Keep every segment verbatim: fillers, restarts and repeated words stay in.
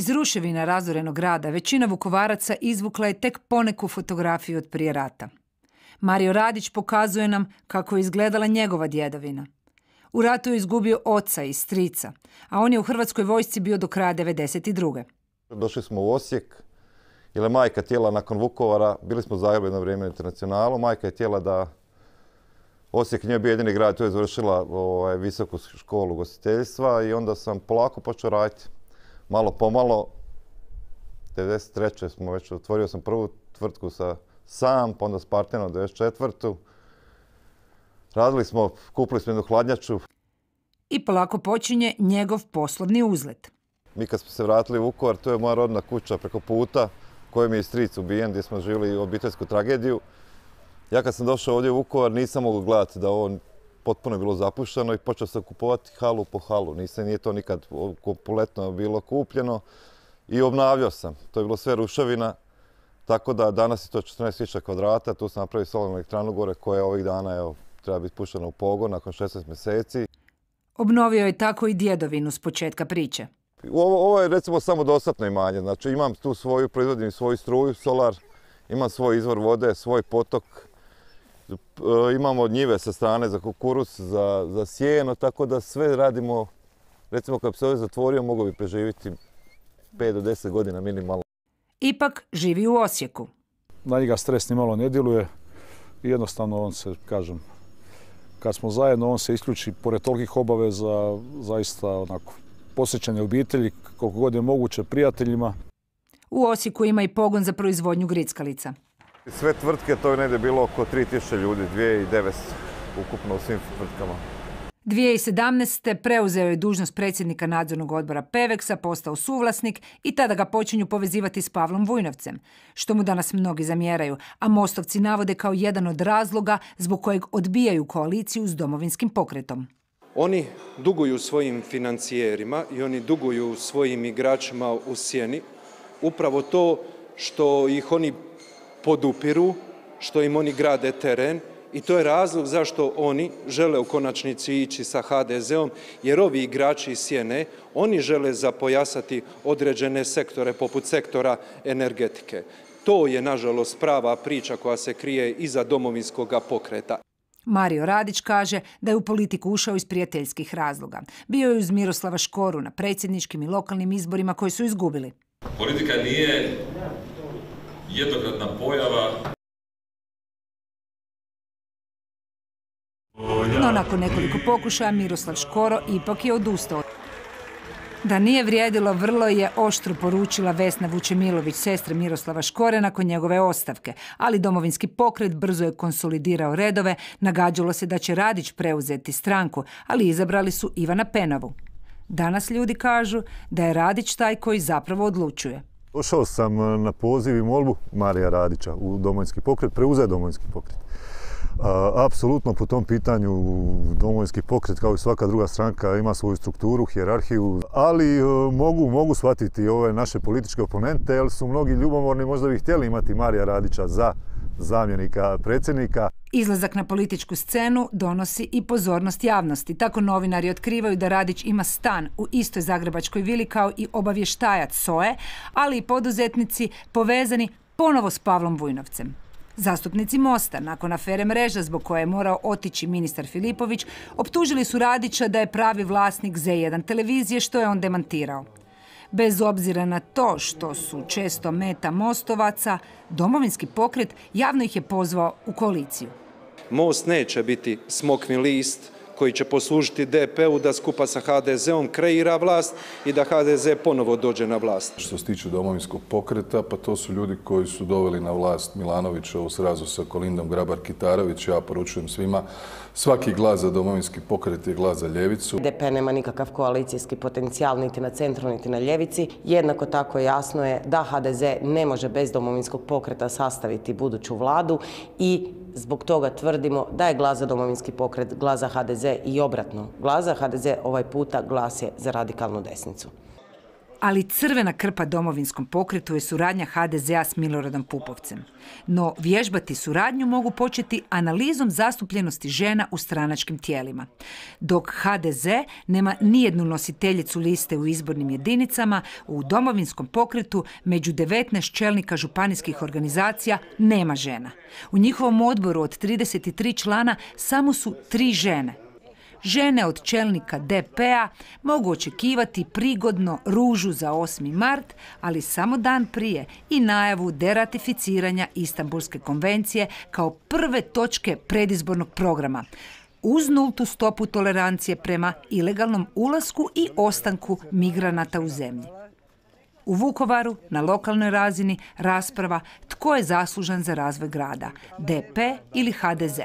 Iz ruševina razorenog grada većina Vukovaraca izvukla je tek poneku fotografiju od prije rata. Mario Radić pokazuje nam kako je izgledala njegova djedovina. U ratu je izgubio oca i strica, a on je u Hrvatskoj vojsci bio do kraja devedeset druge. Došli smo u Osijek, jer je majka htjela nakon Vukovara, bili smo u Zagrebu jedno vrijeme na Internacionalu, majka je htjela da Osijek nije bio jedini grad, tu je završila ovaj, visoku školu ugostiteljstva i onda sam polako počeo raditi. Malo pomalo, devedeset treće smo već, otvorio sam prvu tvrtku sa sam, pa onda s partnerom devedeset četvrtu Radili smo, kupili smo jednu hladnjaču. I polako počinje njegov poslovni uzlet. Mi kad smo se vratili u Vukovar, to je moja rodna kuća preko puta, kojem je stric ubijen, gdje smo živjeli obiteljsku tragediju. Ja kad sam došao ovdje u Vukovar nisam mogao gledati da ovo potpuno je bilo zapušteno i počeo sam kupovati halu po halu. Nisam, nije to nikad kompletno bilo kupljeno i obnavljao sam. To je bilo sve ruševina, tako da danas je to četrnaest tisuća kvadrata. Tu sam napravio solarnu elektranu gore koja ovih dana evo, treba biti puštena u pogon nakon šesnaest mjeseci. Obnovio je tako i djedovinu s početka priče. Ovo, ovo je recimo samo dostatno imanje. Znači imam tu svoju, proizvodim svoju struju, solar, imam svoj izvor vode, svoj potok. Imamo njive sa strane za kukuruz, za, za sjeno, tako da sve radimo. Recimo kad bi se ovdje zatvorio, mogao bi preživjeti pet do deset godina minimalno. Ipak živi u Osijeku. Na njega stres ni malo ne djeluje i jednostavno on se, kažem, kad smo zajedno, on se isključi pored tolikih obaveza, zaista onako, posjećanje obitelji, koliko god je moguće, prijateljima. U Osijeku ima i pogon za proizvodnju grickalica. Sve tvrtke, to je negdje bilo oko tri tisuće ljudi, dvije tisuće devetsto ukupno u svim tvrtkama. dvije tisuće sedamnaeste. preuzeo je dužnost predsjednika nadzornog odbora Peveksa, postao suvlasnik i tada ga počinju povezivati s Pavlom Vujnovcem, što mu danas mnogi zamjeraju, a Mostovci navode kao jedan od razloga zbog kojeg odbijaju koaliciju s Domovinskim pokretom. Oni duguju svojim financijerima i oni duguju svojim igračima u sjeni upravo to što ih oni podupiru, što im oni grade teren i to je razlog zašto oni žele u konačnici ići sa ha de zeom, jer ovi igrači iz sjene, oni žele zapojasati određene sektore poput sektora energetike. To je nažalost prava priča koja se krije iza Domovinskog pokreta. Mario Radić kaže da je u politiku ušao iz prijateljskih razloga. Bio je uz Miroslava Škoru na predsjedničkim i lokalnim izborima koji su izgubili. Politika nije jednokratna pojava. No nakon nekoliko pokušaja Miroslav Škoro ipak je odustao. Da nije vrijedilo, vrlo je oštro poručila Vesna Vučemilović, sestra Miroslava Škore, nakon njegove ostavke. Ali Domovinski pokret brzo je konsolidirao redove, nagađalo se da će Radić preuzeti stranku, ali izabrali su Ivana Penavu. Danas ljudi kažu da je Radić taj koji zapravo odlučuje. Došao sam na poziv i molbu Marija Radića u Domovinski pokret, preuzeo Domovinski pokret. Apsolutno po tom pitanju Domovinski pokret kao i svaka druga stranka ima svoju strukturu, hijerarhiju, ali mogu, mogu shvatiti ove naše političke oponente jer su mnogi ljubomorni, možda bi htjeli imati Marija Radića za zamjenika predsjednika. Izlazak na političku scenu donosi i pozornost javnosti. Tako novinari otkrivaju da Radić ima stan u istoj zagrebačkoj vili kao i obavještajac S O E, ali i poduzetnici povezani ponovo s Pavlom Vujnovcem. Zastupnici Mosta, nakon afere Mreža zbog koje je morao otići ministar Filipović, optužili su Radića da je pravi vlasnik Z jedan televizije, što je on demantirao. Bez obzira na to što su često meta Mostovaca, Domovinski pokret javno ih je pozvao u koaliciju. Most neće biti smokvin list koji će poslužiti D P U da skupa sa ha de zeom kreira vlast i da ha de ze ponovo dođe na vlast. Što se tiče Domovinskog pokreta, pa to su ljudi koji su doveli na vlast Milanovića u srazu sa Kolindom Grabar-Kitarović. Ja poručujem svima, svaki glas za Domovinski pokret je glas za ljevicu. D P nema nikakav koalicijski potencijal niti na centru, niti na ljevici. Jednako tako jasno je da ha de ze ne može bez Domovinskog pokreta sastaviti buduću vladu i zbog toga tvrdimo da je glas za Domovinski pokret glas za ha de ze i obratno. Glas za ha de ze ovaj puta glas je za radikalnu desnicu. Ali crvena krpa Domovinskom pokretu je suradnja ha de zea s Miloradom Pupovcem. No vježbati suradnju mogu početi analizom zastupljenosti žena u stranačkim tijelima. Dok ha de ze nema nijednu nositeljicu liste u izbornim jedinicama, u Domovinskom pokretu među devetnaest čelnika županijskih organizacija nema žena. U njihovom odboru od trideset tri člana samo su tri žene. Žene od čelnika de pe-a mogu očekivati prigodno ružu za osmi mart, ali samo dan prije i najavu deratificiranja Istanbulske konvencije kao prve točke predizbornog programa, uz nultu stopu tolerancije prema ilegalnom ulasku i ostanku migranata u zemlji. U Vukovaru, na lokalnoj razini, rasprava tko je zaslužan za razvoj grada, de pe ili ha de ze.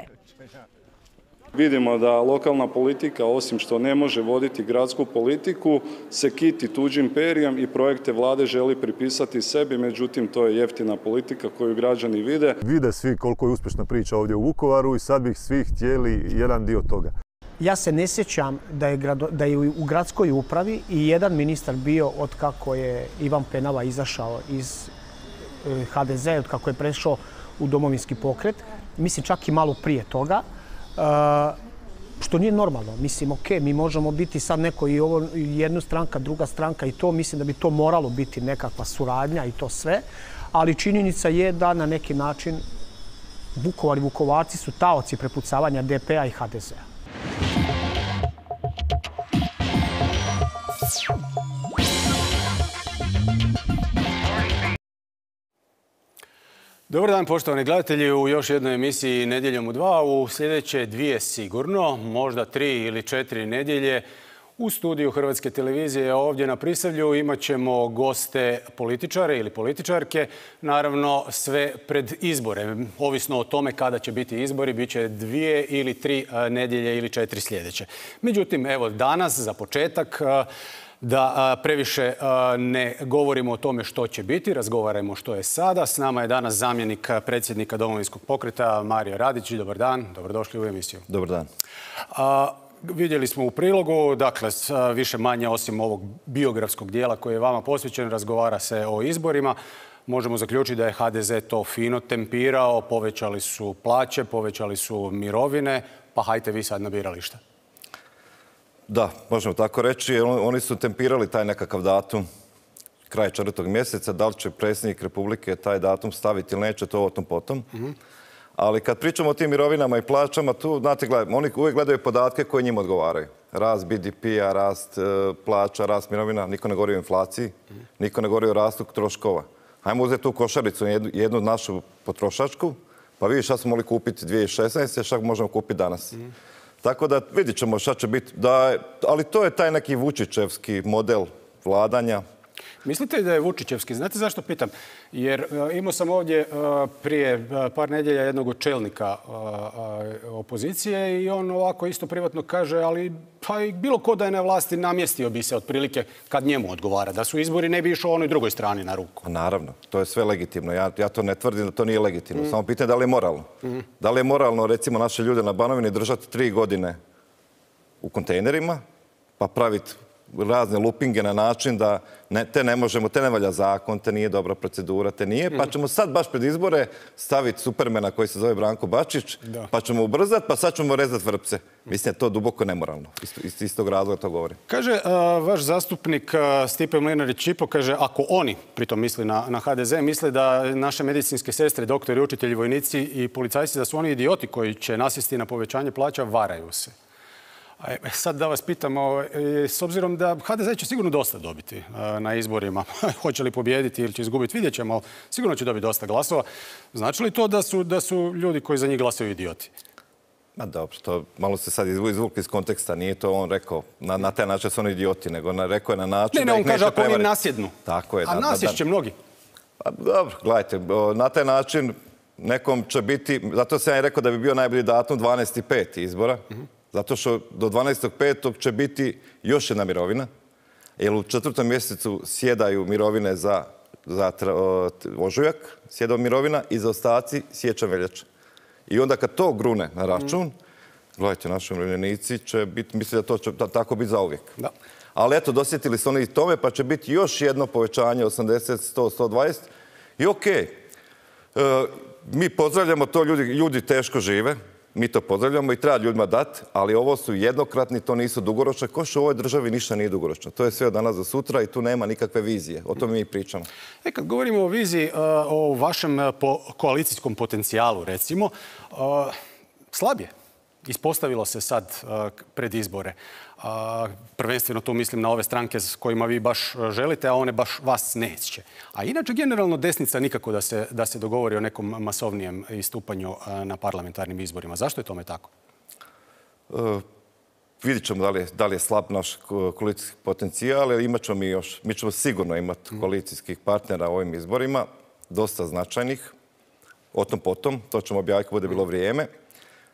Vidimo da lokalna politika, osim što ne može voditi gradsku politiku, se kiti tuđim perijem i projekte vlade želi pripisati sebi, međutim to je jeftina politika koju građani vide. Vide svi koliko je uspješna priča ovdje u Vukovaru i sad bih svi htjeli jedan dio toga. Ja se ne sjećam da je, grado, da je u gradskoj upravi i jedan ministar bio od kako je Ivan Penava izašao iz ha de ze, od kako je prešao u Domovinski pokret, mislim čak i malo prije toga. Uh, što nije normalno. Mislim, ok, mi možemo biti sad neko i ovo, jedna stranka, druga stranka i to, mislim da bi to moralo biti nekakva suradnja i to sve, ali činjenica je da na neki način Vukovar i Vukovarci su taoci prepucavanja de pe-a i ha de zea. Dobar dan, poštovani gledatelji, u još jednoj emisiji Nedjeljom u dva. U sljedeće dvije sigurno, možda tri ili četiri nedjelje, u studiju Hrvatske televizije ovdje na Prisavlju imat ćemo goste političare ili političarke. Naravno, sve pred izbore. Ovisno o tome kada će biti izbori, bit će dvije ili tri nedjelje ili četiri sljedeće. Međutim, evo danas, za početak, da previše ne govorimo o tome što će biti, razgovarajmo što je sada. S nama je danas zamjenik predsjednika Domovinskog pokreta Mario Radić. Dobar dan, dobrodošli u emisiju. Dobar dan. A, vidjeli smo u prilogu, dakle, više manje osim ovog biografskog dijela koji je vama posvećen, razgovara se o izborima. Možemo zaključiti da je ha de ze to fino tempirao, povećali su plaće, povećali su mirovine, pa hajte vi sad na biralište. Da, možemo tako reći. Oni su tempirali taj nekakav datum kraj četvrtog mjeseca. Da li će predsjednik Republike taj datum staviti ili neće, to o tom potom. Mm-hmm. Ali kad pričamo o tim mirovinama i plaćama, tu, znate, gledaj, oni uvijek gledaju podatke koje njima odgovaraju. Rast be de pe-a, rast e, plaća, rast mirovina. Niko ne govori o inflaciji, mm-hmm. niko ne govori o rastu troškova. Hajmo uzeti tu košaricu, jednu, jednu našu potrošačku, pa vidi šta smo mogli kupiti dvije tisuće šesnaeste. šta možemo kupiti danas. Mm-hmm. Tako da vidjet ćemo šta će biti. Da, ali to je taj neki Vučićevski model vladanja. Mislite da je Vučićevski? Znate zašto pitam? Jer imao sam ovdje prije par nedjelja jednog od čelnika opozicije i on ovako isto privatno kaže, ali pa i bilo ko da je na vlasti namjestio bi se otprilike kad njemu odgovara. Da su izbori ne bi išao onoj drugoj strani na ruku. Naravno, to je sve legitimno. Ja, ja to ne tvrdim da to nije legitimno. Mm. Samo pitanje da li je moralno. Mm. Da li je moralno, recimo, naše ljude na Banovini držati tri godine u kontejnerima, pa praviti razne lupinge na način da ne, te ne možemo, te ne valja zakon, te nije dobra procedura, te nije, pa ćemo sad baš pred izbore staviti supermena koji se zove Branko Bačić, da. Pa ćemo ubrzati, pa sad ćemo rezati vrpce. Mislim, je to duboko nemoralno. Iz istog razloga to govorim. Kaže uh, vaš zastupnik uh, Stipe Mlinarić-Ćipo, kaže, ako oni, pritom misli na, na ha de ze, misle da naše medicinske sestre, doktori, učitelji, vojnici i policajci, da su oni idioti koji će nasjesti na povećanje plaća, varaju se. Sad da vas pitamo, s obzirom da ha de ze će sigurno dosta dobiti na izborima, hoće li pobijediti ili će izgubiti, vidjet ćemo, sigurno će dobiti dosta glasova. Znači li to da su, da su ljudi koji za njih glasaju idioti? Ma dobro, to malo se sad izvukli iz konteksta, nije to on rekao, na, na taj način su oni idioti, nego na, rekao je na način ne, ne, da on ih kaže neće prevariti. Ako oni nasjednu. Tako je. A nasješće mnogi. A, dobro, gledajte, na taj način nekom će biti, zato sam ja rekao da bi bio najbolji datum dvanaesti peti izbora, mm-hmm. Zato što do dvanaestog petog će biti još jedna mirovina, jer u četvrtom mjesecu sjedaju mirovine za, za ožujak, sjeda mirovina i za ostaci siječanj veljača. I onda kad to grune na račun, Gledajte, naši umirovljenici će biti, mislim da to će tako biti zauvijek. Da. Ali eto, dosjetili su oni i tome, pa će biti još jedno povećanje osamdeset, sto, sto dvadeset. I okej, okay. e, mi pozdravljamo to, ljudi, ljudi teško žive, mi to pozdravljamo i treba ljudima dati, ali ovo su jednokratni, to nisu dugoročne. Ko što u ovoj državi ništa nije dugoročno. To je sve od danas do sutra i tu nema nikakve vizije. O tome mi pričamo. E, kad govorimo o viziji, o vašem koalicijskom potencijalu, recimo, slab je. Ispostavilo se sad pred izbore. Prvenstveno tu mislim na ove stranke s kojima vi baš želite, a one baš vas neće. A inače, generalno, desnica nikako da se, da se dogovori o nekom masovnijem istupanju na parlamentarnim izborima. Zašto je tome tako? Uh, vidjet ćemo da li je, da li je slab naš koalicijski potencijal, ali imat ćemo mi još. Mi ćemo sigurno imati koalicijskih partnera u ovim izborima, dosta značajnih. O tom potom, to ćemo objaviti bude bilo vrijeme.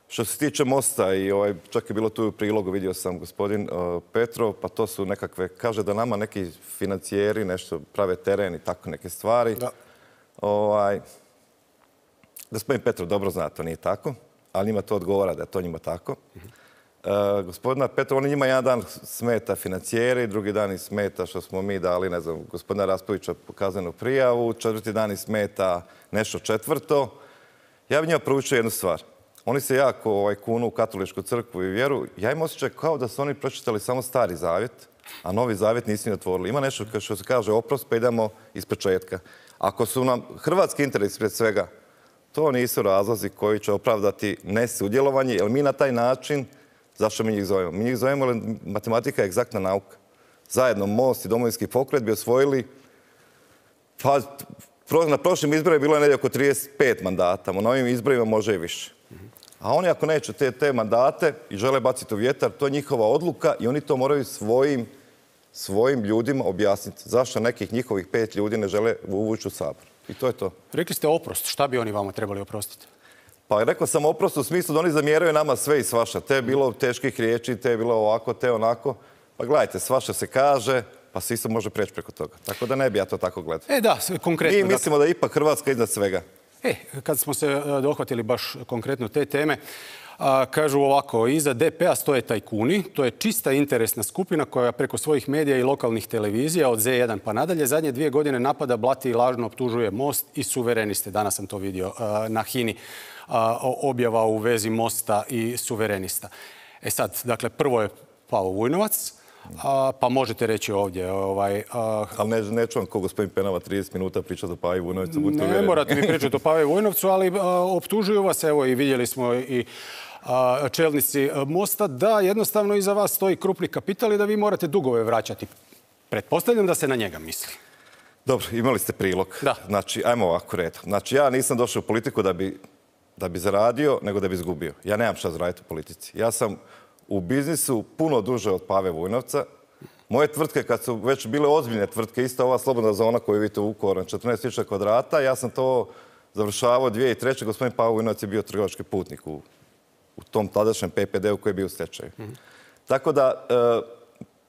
Što se tiče Mosta, i ovaj, čak je bilo tu u prilogu, vidio sam gospodin uh, Petrov, pa to su nekakve, kaže da nama neki financijeri nešto prave teren i tako neke stvari. Da. Ovaj, gospodin Petrov dobro zna, to nije tako, ali njima to odgovara da je to njima tako. Uh, gospodina Petrov, on njima jedan dan smeta financijeri, drugi dan i smeta što smo mi dali, ne znam, gospodina Raspovića kaznenu prijavu, četvrti dan i smeta nešto četvrto. Ja bih njima proučio jednu stvar. Oni se jako ovaj, kunu u katoličku crkvu i vjeru. Ja im osjećam kao da su oni pročitali samo Stari zavjet, a Novi zavjet nisu ni otvorili. Ima nešto što se kaže oprost, pa idemo iz početka. Ako su nam hrvatski interes pred svega, to nisu razlozi koji će opravdati nesudjelovanje, jer mi na taj način, zašto mi njih zovemo? Mi njih zovemo, jer matematika je egzaktna nauka. Zajedno Most i Domovinski pokret bi osvojili, pa na prošlim izborima je bilo negdje oko trideset pet mandata, na ovim izborima može i više. A oni ako neće te, te mandate i žele baciti u vjetar, to je njihova odluka i oni to moraju svojim, svojim ljudima objasniti. Zašto nekih njihovih pet ljudi ne žele uvući u Sabor? I to je to. Rekli ste oprost. Šta bi oni vama trebali oprostiti? Pa rekao sam oprost u smislu da oni zamjeraju nama sve i svaša. Te je bilo teških riječi, te je bilo ovako, te onako. Pa gledajte, svaša se kaže, pa se isto može preći preko toga. Tako da ne bi ja to tako gledao. E da, konkretno. Mi mislimo da je ipak Hrvatska iznad svega. E, kad smo se dohvatili baš konkretno te teme, a, kažu ovako, iza D P-a stoje tajkuni, to je čista interesna skupina koja preko svojih medija i lokalnih televizija od Z jedan pa nadalje zadnje dvije godine napada, blati i lažno optužuje Most i suvereniste. Danas sam to vidio a, na Hini, a, objava u vezi Mosta i suverenista. E sad, dakle, prvo je Pavo Vujnovac, A, pa možete reći ovdje. Ovaj, a... Ali ne, neću vam ko gospodin Penava trideset minuta pričati o Pavi Vujnovcu. Ne uvjereni. Morate mi pričati o Pavi Vujnovcu, ali a, optužuju vas, evo i vidjeli smo i a, čelnici Mosta, da jednostavno iza vas stoji krupni kapital i da vi morate dugove vraćati. Pretpostavljam da se na njega misli. Dobro, imali ste prilog. Da. Znači, ajmo ovako redom. Znači, ja nisam došao u politiku da bi, da bi zaradio, nego da bi izgubio. Ja nemam šta zaraditi u politici. Ja sam u biznisu puno duže od Pave Vujnovca. Moje tvrtke, kad su već bile ozbiljne tvrtke, ista ova slobodna zona koju vidite u Vukovaru, četrnaest tisuća kvadrata, ja sam to završavao dvije tisuće treće. Gospodin Pavo Vujnovac je bio trgovački putnik u, u tom tadašnjem P P D-u koji je bio u stečaju. Mm-hmm. Tako da, e,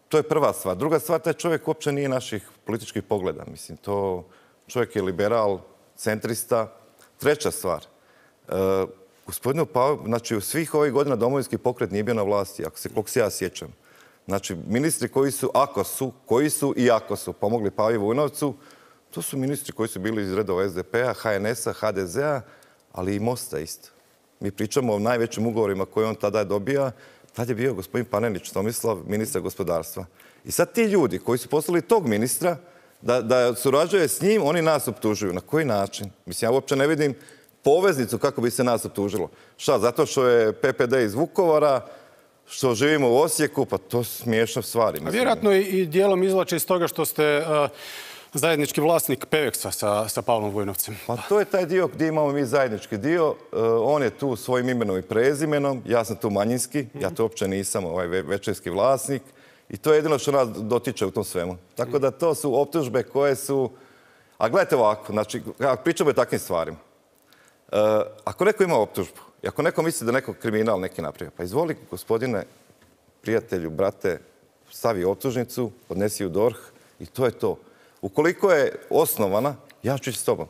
to je prva stvar. Druga stvar, taj čovjek uopće nije naših političkih pogleda. Mislim, to čovjek je liberal, centrista. Treća stvar, e, gospodinu Pavu, znači u svih ovih godina Domovinski pokret nije bio na vlasti, ako se, koliko se ja sjećam. Znači, ministri koji su, ako su, koji su i ako su pomogli Pavi Vujnovcu, to su ministri koji su bili iz redova S D P-a, H N S-a, H D Z-a, ali i Mosta isto. Mi pričamo o najvećim ugovorima koje on tada je dobija. Tad je bio gospodin Panenić Tomislav, ministar gospodarstva. I sad ti ljudi koji su poslali tog ministra da, da surađuje s njim, oni nas optužuju. Na koji način? Mislim, ja uopće ne vidim poveznicu kako bi se nas optužilo. Šta, zato što je P P D iz Vukovara, što živimo u Osijeku, pa to su smiješne stvari. A vjerojatno i dijelom izvlače iz toga što ste uh, zajednički vlasnik Peveksa sa, sa Pavlom Vujnovcem. Pa to je taj dio gdje imamo mi zajednički dio. Uh, on je tu svojim imenom i prezimenom, ja sam tu manjinski, mm-hmm. ja to uopće nisam ovaj većinski vlasnik i to je jedino što nas dotiče u tom svemu. Tako da to su optužbe koje su... A gledajte ovako, znači, pričamo o takvim stvarima. Uh, ako neko ima optužbu, i ako neko misli da neko kriminal neki napravio, pa izvoli, gospodine, prijatelju, brate, stavi optužnicu, odnesi u D O R H i to je to. Ukoliko je osnovana, ja ću ići s tobom.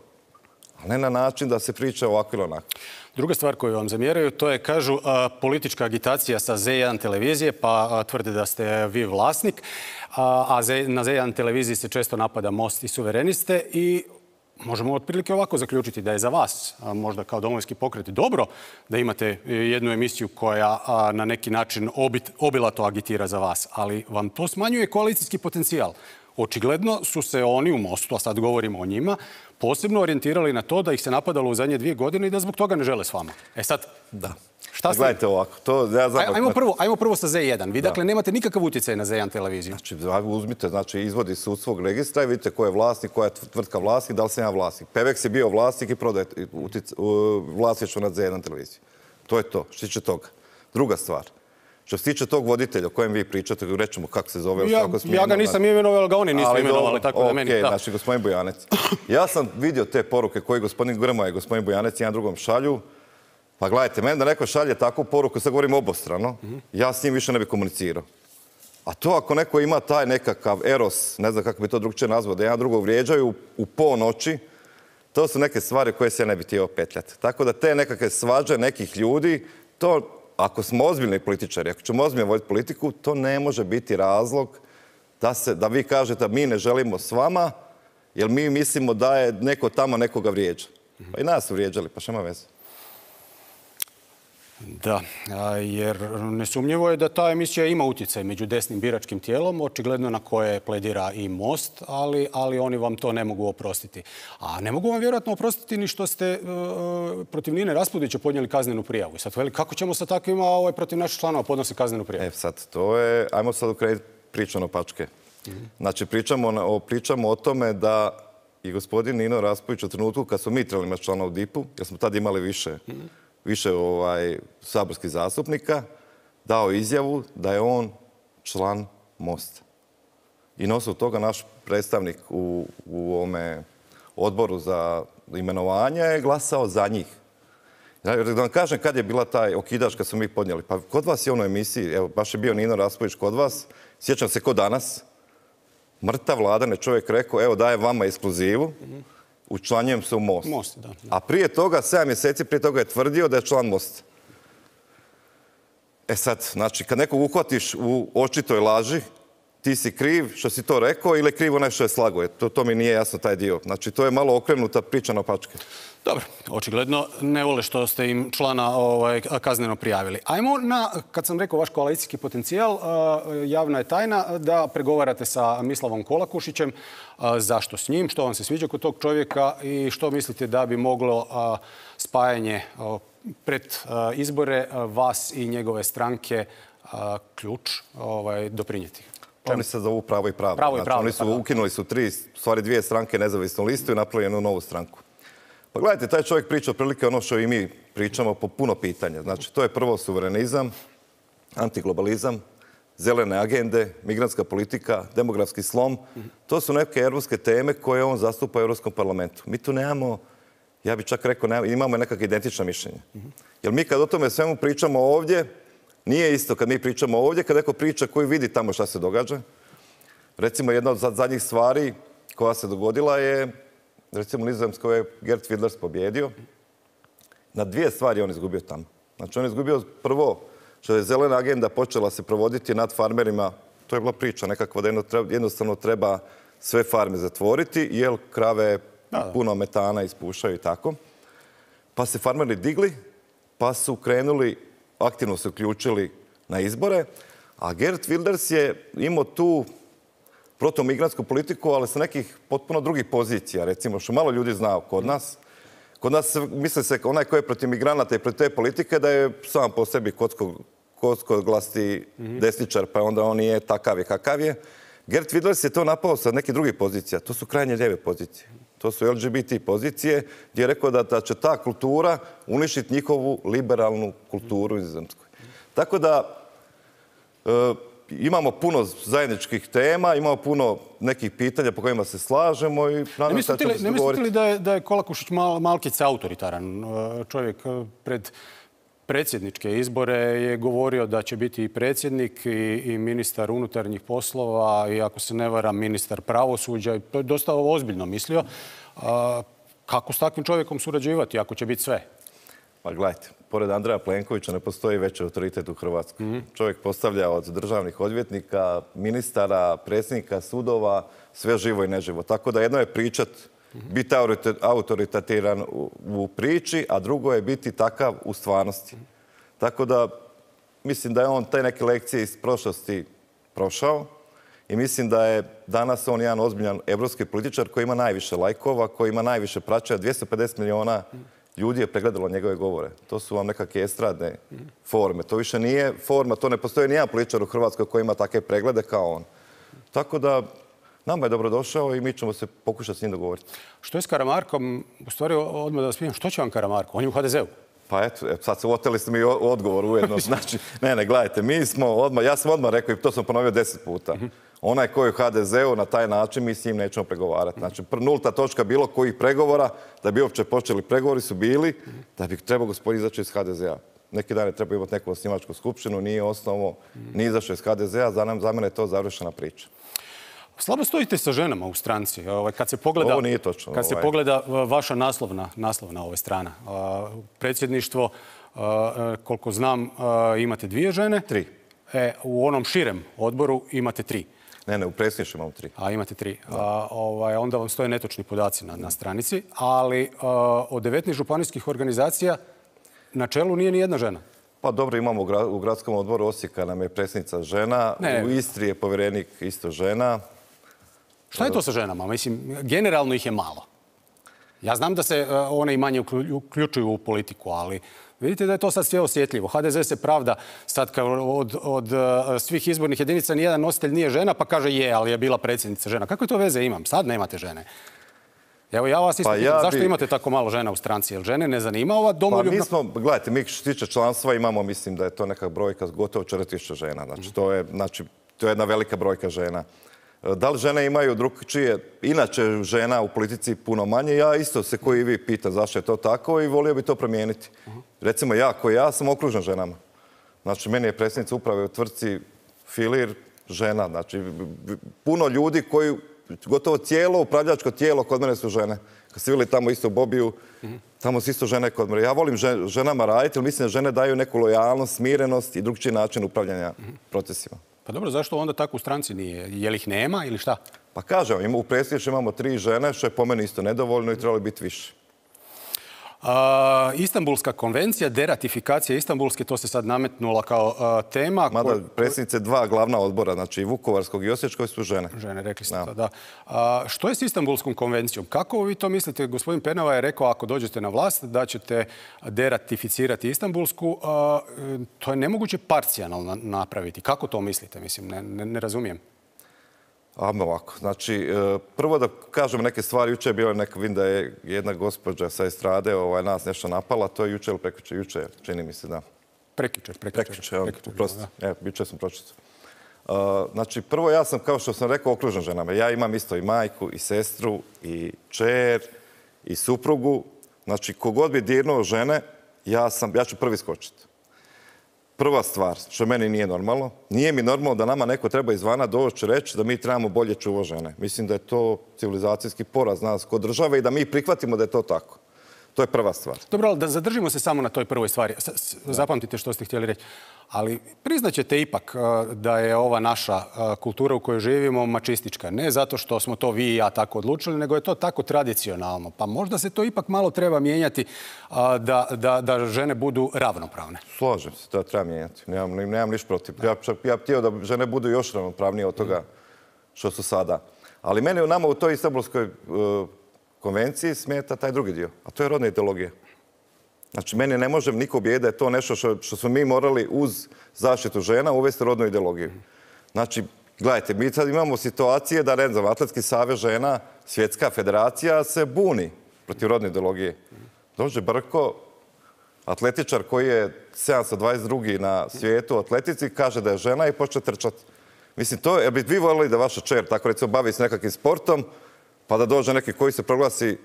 a ne na način da se priča ovako ili onako. Druga stvar koju vam zamjeraju, to je, kažu, a, politička agitacija sa Z jedan televizije, pa a, tvrde da ste vi vlasnik, a, a Z, na Z jedan televiziji se često napada Most i suvereniste i možemo otprilike ovako zaključiti da je za vas, a, možda kao Domovinski pokret, dobro da imate jednu emisiju koja a, na neki način obit, obilato agitira za vas, ali vam to smanjuje koalicijski potencijal. Očigledno su se oni u Mostu, a sad govorimo o njima, posebno orijentirali na to da ih se napadalo u zadnje dvije godine i da zbog toga ne žele s vama. E sad, da. Šta ste... Gledajte ovako, to ja znam... Ajmo prvo, ajmo prvo sa Z jedan. Vi da. dakle nemate nikakav utjecaj na Z jedan televiziju. Znači, uzmite, znači, izvodi se u svog registra i vidite ko je vlasnik, koja je tvrtka vlasnik, da li sam ja vlasnik. Pevex je bio vlasnik i prodaje vlasništvo nad Z jedan televiziju. To je to, što se tiče toga. Druga stvar. Što se tiče tog voditelja o kojem vi pričate, rećemo kako se zove... Ja, ja ga nisam imenovao, ali ga oni nisu imenovali, tako da okay, meni... Da. Znači, gospodin Bujanec. Ja sam vidio te poruke koje gospodin Grmoja i gospodin Bujanec jedan drugom šalju. Pa gledajte, meni da neko šalje takvu poruku, sad govorim obostrano, mm-hmm. ja s njim više ne bi komunicirao. A to ako neko ima taj nekakav eros, ne znam kako bi to drugčije nazvao, da jedan drugog vrijeđaju u ponoći, to su neke stvari koje se ja ne bi htio petljati. Tako da te nekakve svađe nekih ljudi, to... Ako smo ozbiljni političari, ako ćemo ozbiljno voditi politiku, to ne može biti razlog da, se, da vi kažete da mi ne želimo s vama, jer mi mislimo da je neko tamo nekoga vrijeđa. Pa i nas su vrijeđali, pa šema veze. Da, jer nesumnjivo je da ta emisija ima utjecaj među desnim biračkim tijelom, očigledno na koje pledira i Most, ali, ali oni vam to ne mogu oprostiti. A ne mogu vam vjerojatno oprostiti ni što ste uh, protiv Nine Raspudića podnijeli kaznenu prijavu. I sad veli, kako ćemo sa takvima ovaj, protiv naših članova podnosi kaznenu prijavu? E sad, to je, ajmo sad ukrenuti priču na pačke. Mm-hmm. Znači, pričamo o, pričamo o tome da i gospodin Nino Raspudić u trenutku kad smo mi trebali imati člana u D I P-u, jer smo tad imali više mm-hmm. više ovaj, saborskih zastupnika, dao izjavu da je on član Mosta. I na osnovu toga naš predstavnik u, u ovome odboru za imenovanje je glasao za njih. Da vam kažem kad je bila taj okidač kad smo mi podnijeli. Pa kod vas je ono emisiji, evo baš je bio Nino Raspudić kod vas, sjećam se ko danas, mrtav vladan je čovjek rekao, evo daje vama ekskluzivu, mm-hmm. učlanjujem se u Most. Most da, da. A prije toga, sedam mjeseci prije toga je tvrdio da je član Mosta. E sad, znači, kad nekog uhvatiš u očitoj laži, ti si kriv što si to rekao ili je kriv onaj što je slago. To, to mi nije jasno taj dio. Znači, to je malo okrenuta priča na pačke. Dobro, očigledno ne vole što ste im člana ovaj, kazneno prijavili. Ajmo na, kad sam rekao vaš koalicijski potencijal, javna je tajna da pregovarate sa Mislavom Kolakušićem. Zašto s njim? Što vam se sviđa kod tog čovjeka i što mislite da bi moglo spajanje pred izbore vas i njegove stranke ključ ovaj, doprinijeti? Oni se zovu Pravo i Pravda. Pravo i Pravda, znači, oni su pardon. ukinuli su tri, stvari dvije stranke nezavisnu listu i napravili jednu novu stranku. Pa gledajte, taj čovjek priča otprilike ono što i mi pričamo po puno pitanja. Znači, to je prvo suverenizam, antiglobalizam, zelene agende, migrantska politika, demografski slom. To su neke europske teme koje on zastupa u Europskom parlamentu. Mi tu nemamo, ja bih čak rekao, nemamo, imamo nekakve identična mišljenja. Jer mi kad o tome svemu pričamo ovdje, nije isto kad mi pričamo ovdje, kad neko priča koji vidi tamo šta se događa. Recimo, jedna od zadnjih stvari koja se dogodila je, recimo, Nizozemskoj je Geert Wilders pobjedio. Na dvije stvari on izgubio tamo. Znači, on izgubio prvo što je zelena agenda počela se provoditi nad farmerima. To je bila priča nekakva da jednostavno treba sve farme zatvoriti, jer krave puno metana ispušaju i tako. Pa se farmeri digli, pa su krenuli, aktivno se uključili na izbore, a Geert Wilders je imao tu protomigrantsku politiku, ali sa nekih potpuno drugih pozicija, recimo, što malo ljudi zna kod nas. Kod nas misli se onaj koji je protiv migranata i protiv te politike da je sam po sebi kockoglasti desničar, pa onda on nije takav i kakav je. Geert Wilders je to napao sa nekih drugih pozicija. To su krajnje lijeve pozicije. To su L G B T pozicije gdje je rekao da, da će ta kultura uništiti njihovu liberalnu kulturu u Nizozemskoj. Tako da e, imamo puno zajedničkih tema, imamo puno nekih pitanja po kojima se slažemo i ne mislite li, ne mislite li da je, da je Kolakušić mal, malkice autoritaran čovjek? Pred predsjedničke izbore je govorio da će biti i predsjednik i, i ministar unutarnjih poslova i ako se ne varam ministar pravosuđa. To je dosta ozbiljno mislio. kako s takvim čovjekom surađivati ako će biti sve? Pa gledajte, pored Andreja Plenkovića ne postoji veći autoritet u Hrvatskoj. Mm-hmm. Čovjek postavlja od državnih odvjetnika, ministara, predsjednika sudova, sve živo i neživo. Tako da jedno je pričat, mm-hmm. biti autoritativan u, u priči, a drugo je biti takav u stvarnosti. Mm-hmm. Tako da mislim da je on te neke lekcije iz prošlosti prošao i mislim da je danas on jedan ozbiljan evropski političar koji ima najviše lajkova, koji ima najviše praćaja, dvjesto pedeset miliona mm-hmm. ljudi je pregledalo njegove govore. To su vam nekakve estradne forme. To više nije forma, to ne postoji nijedan političar u Hrvatskoj koji ima takve preglede kao on. Tako da nama je dobrodošao i mi ćemo se pokušati s njim dogovoriti. Što je s Karamarkom? U stvari, odmah da vas pitam, što će vam Karamarko? On je u ha de zeu. Pa eto, sad se oteli ste mi odgovor ujedno. Znači, ne, ne, gledajte, mi smo odmah, ja sam odmah rekao i to sam ponovio deset puta. Onaj koji je u ha de zeu na taj način mi s njim nećemo pregovarati. Znači, nulta točka bilo kojih pregovora, da bi uopće počeli pregovori su bili, da bi trebao gospodin izaći iz ha de zea. Neki dan je trebao imati neku osnivačku skupštinu, nije osnovo, nije izašao iz ha de zea, za, za mene je to završena priča. Slabo stojite sa ženama u stranci. Kad se pogleda, ovo nije točno. Kad se ovaj. pogleda vaša naslovna, naslovna ove strana, predsjedništvo, koliko znam, imate dvije žene. Tri. E, u onom širem odboru imate tri. Ne, ne, u predsjedništvu imamo tri. A imate tri. A, ovaj, onda vam stoje netočni podaci na, na stranici, ali a, od devetnaest županijskih organizacija na čelu nije ni jedna žena. Pa dobro, imamo u gradskom odboru Osijeka nam je predsjednica žena, ne. U Istri je povjerenik isto žena. Šta je to sa ženama? Mislim, generalno ih je malo. Ja znam da se one i manje uključuju u politiku, ali vidite da je to sad sve osjetljivo. ha de ze se pravda sad kao od, od svih izbornih jedinica nijedan nositelj nije žena, pa kaže je, ali je bila predsjednica žena. Kakve to veze imam? Sad nemate žene. Evo ja vas isto pa pitam, ja zašto bi... imate tako malo žena u stranci? Jel žene ne zanima ova domoljubna... Pa mi smo, gledajte, mi što se tiče članstva imamo, mislim da je to neka brojka gotovo četiri tisuće žena. Znači, mm. to je, znači, to je jedna velika brojka žena. Da li žene imaju drugčije, inače žena u politici puno manje, ja isto se koji vi pita zašto je to tako i volio bi to promijeniti. Uh-huh. Recimo ja, koji ja sam okružen ženama. Znači, meni je predsjednica uprave u tvrtci Filir žena. Znači, puno ljudi koji, gotovo cijelo upravljačko tijelo kod mene su žene. Kad ste vidjeli tamo isto u Bobiju, uh-huh. tamo su isto žene kod mene. Ja volim žen, ženama raditi, jer mislim da žene daju neku lojalnost, smirenost i drugčiji način upravljanja uh-huh. procesima. Pa dobro, zašto onda tako u stranci nije? Je li ih nema ili šta? Pa kažem, u predsjedništvu imamo tri žene, što je po meni isto nedovoljno i trebalo biti više. A, Istanbulska konvencija, deratifikacija Istanbulske, to se sad nametnula kao a, tema. Mada predsjednice dva glavna odbora, znači Vukovarskog i Osječkog su žene. Žene, rekli ste to, da. A, što je s Istanbulskom konvencijom? Kako vi to mislite? Gospodin Penava je rekao, ako dođete na vlast, da ćete deratificirati Istanbulsku. A, to je nemoguće parcijalno napraviti. Kako to mislite? Mislim, ne, ne, ne razumijem. Ajmo ovako. Znači, prvo da kažem neke stvari. Juče je bilo neka, vidim da je jedna gospođa sa estrade ovaj, nas nešto napala. To je juče ili prekjuče? Juče, čini mi se, da. Prekjuče, prekjuče. Prekjuče, prosto. Evo, juče sam pročitao. Uh, znači, prvo ja sam, kao što sam rekao, okružen ženama. Ja imam isto i majku, i sestru, i čer, i suprugu. Znači, kogod bi dirnuo žene, ja, sam, ja ću prvi skočiti. Prva stvar, što meni nije normalno, nije mi normalno da nama neko treba izvana doći reći da mi trebamo bolje čuvati žene. Mislim da je to civilizacijski poraz nas kod države i da mi prihvatimo da je to tako. To je prva stvar. Dobro, ali da zadržimo se samo na toj prvoj stvari. Zapamtite što ste htjeli reći. Ali priznaćete ipak da je ova naša kultura u kojoj živimo mačistička. Ne zato što smo to vi i ja tako odlučili, nego je to tako tradicionalno. Pa možda se to ipak malo treba mijenjati da, da, da žene budu ravnopravne. Slažem se, to treba mijenjati. Nemam, nemam ništa protiv. Ja, ja bih htio da žene budu još ravnopravnije od toga što su sada. Ali meni u nama u toj Istanbulskoj uh, konvenciji smeta taj drugi dio, a to je rodna ideologija. Znači, meni ne može niko obijeti da je to nešto što, što smo mi morali uz zaštitu žena uvesti rodnu ideologiju. Znači, gledajte, mi sad imamo situacije da, ne znam, Atletski savez žena, svjetska federacija se buni protiv rodne ideologije. Dođe Brko, atletičar koji je sedamsto dvadeset drugi na svijetu u atletici, kaže da je žena i počne trčati. Mislim, to je, bi vi voljeli da vaša čer, tako recimo, bavi se nekakvim sportom, pa da dođe neki koji se proglasi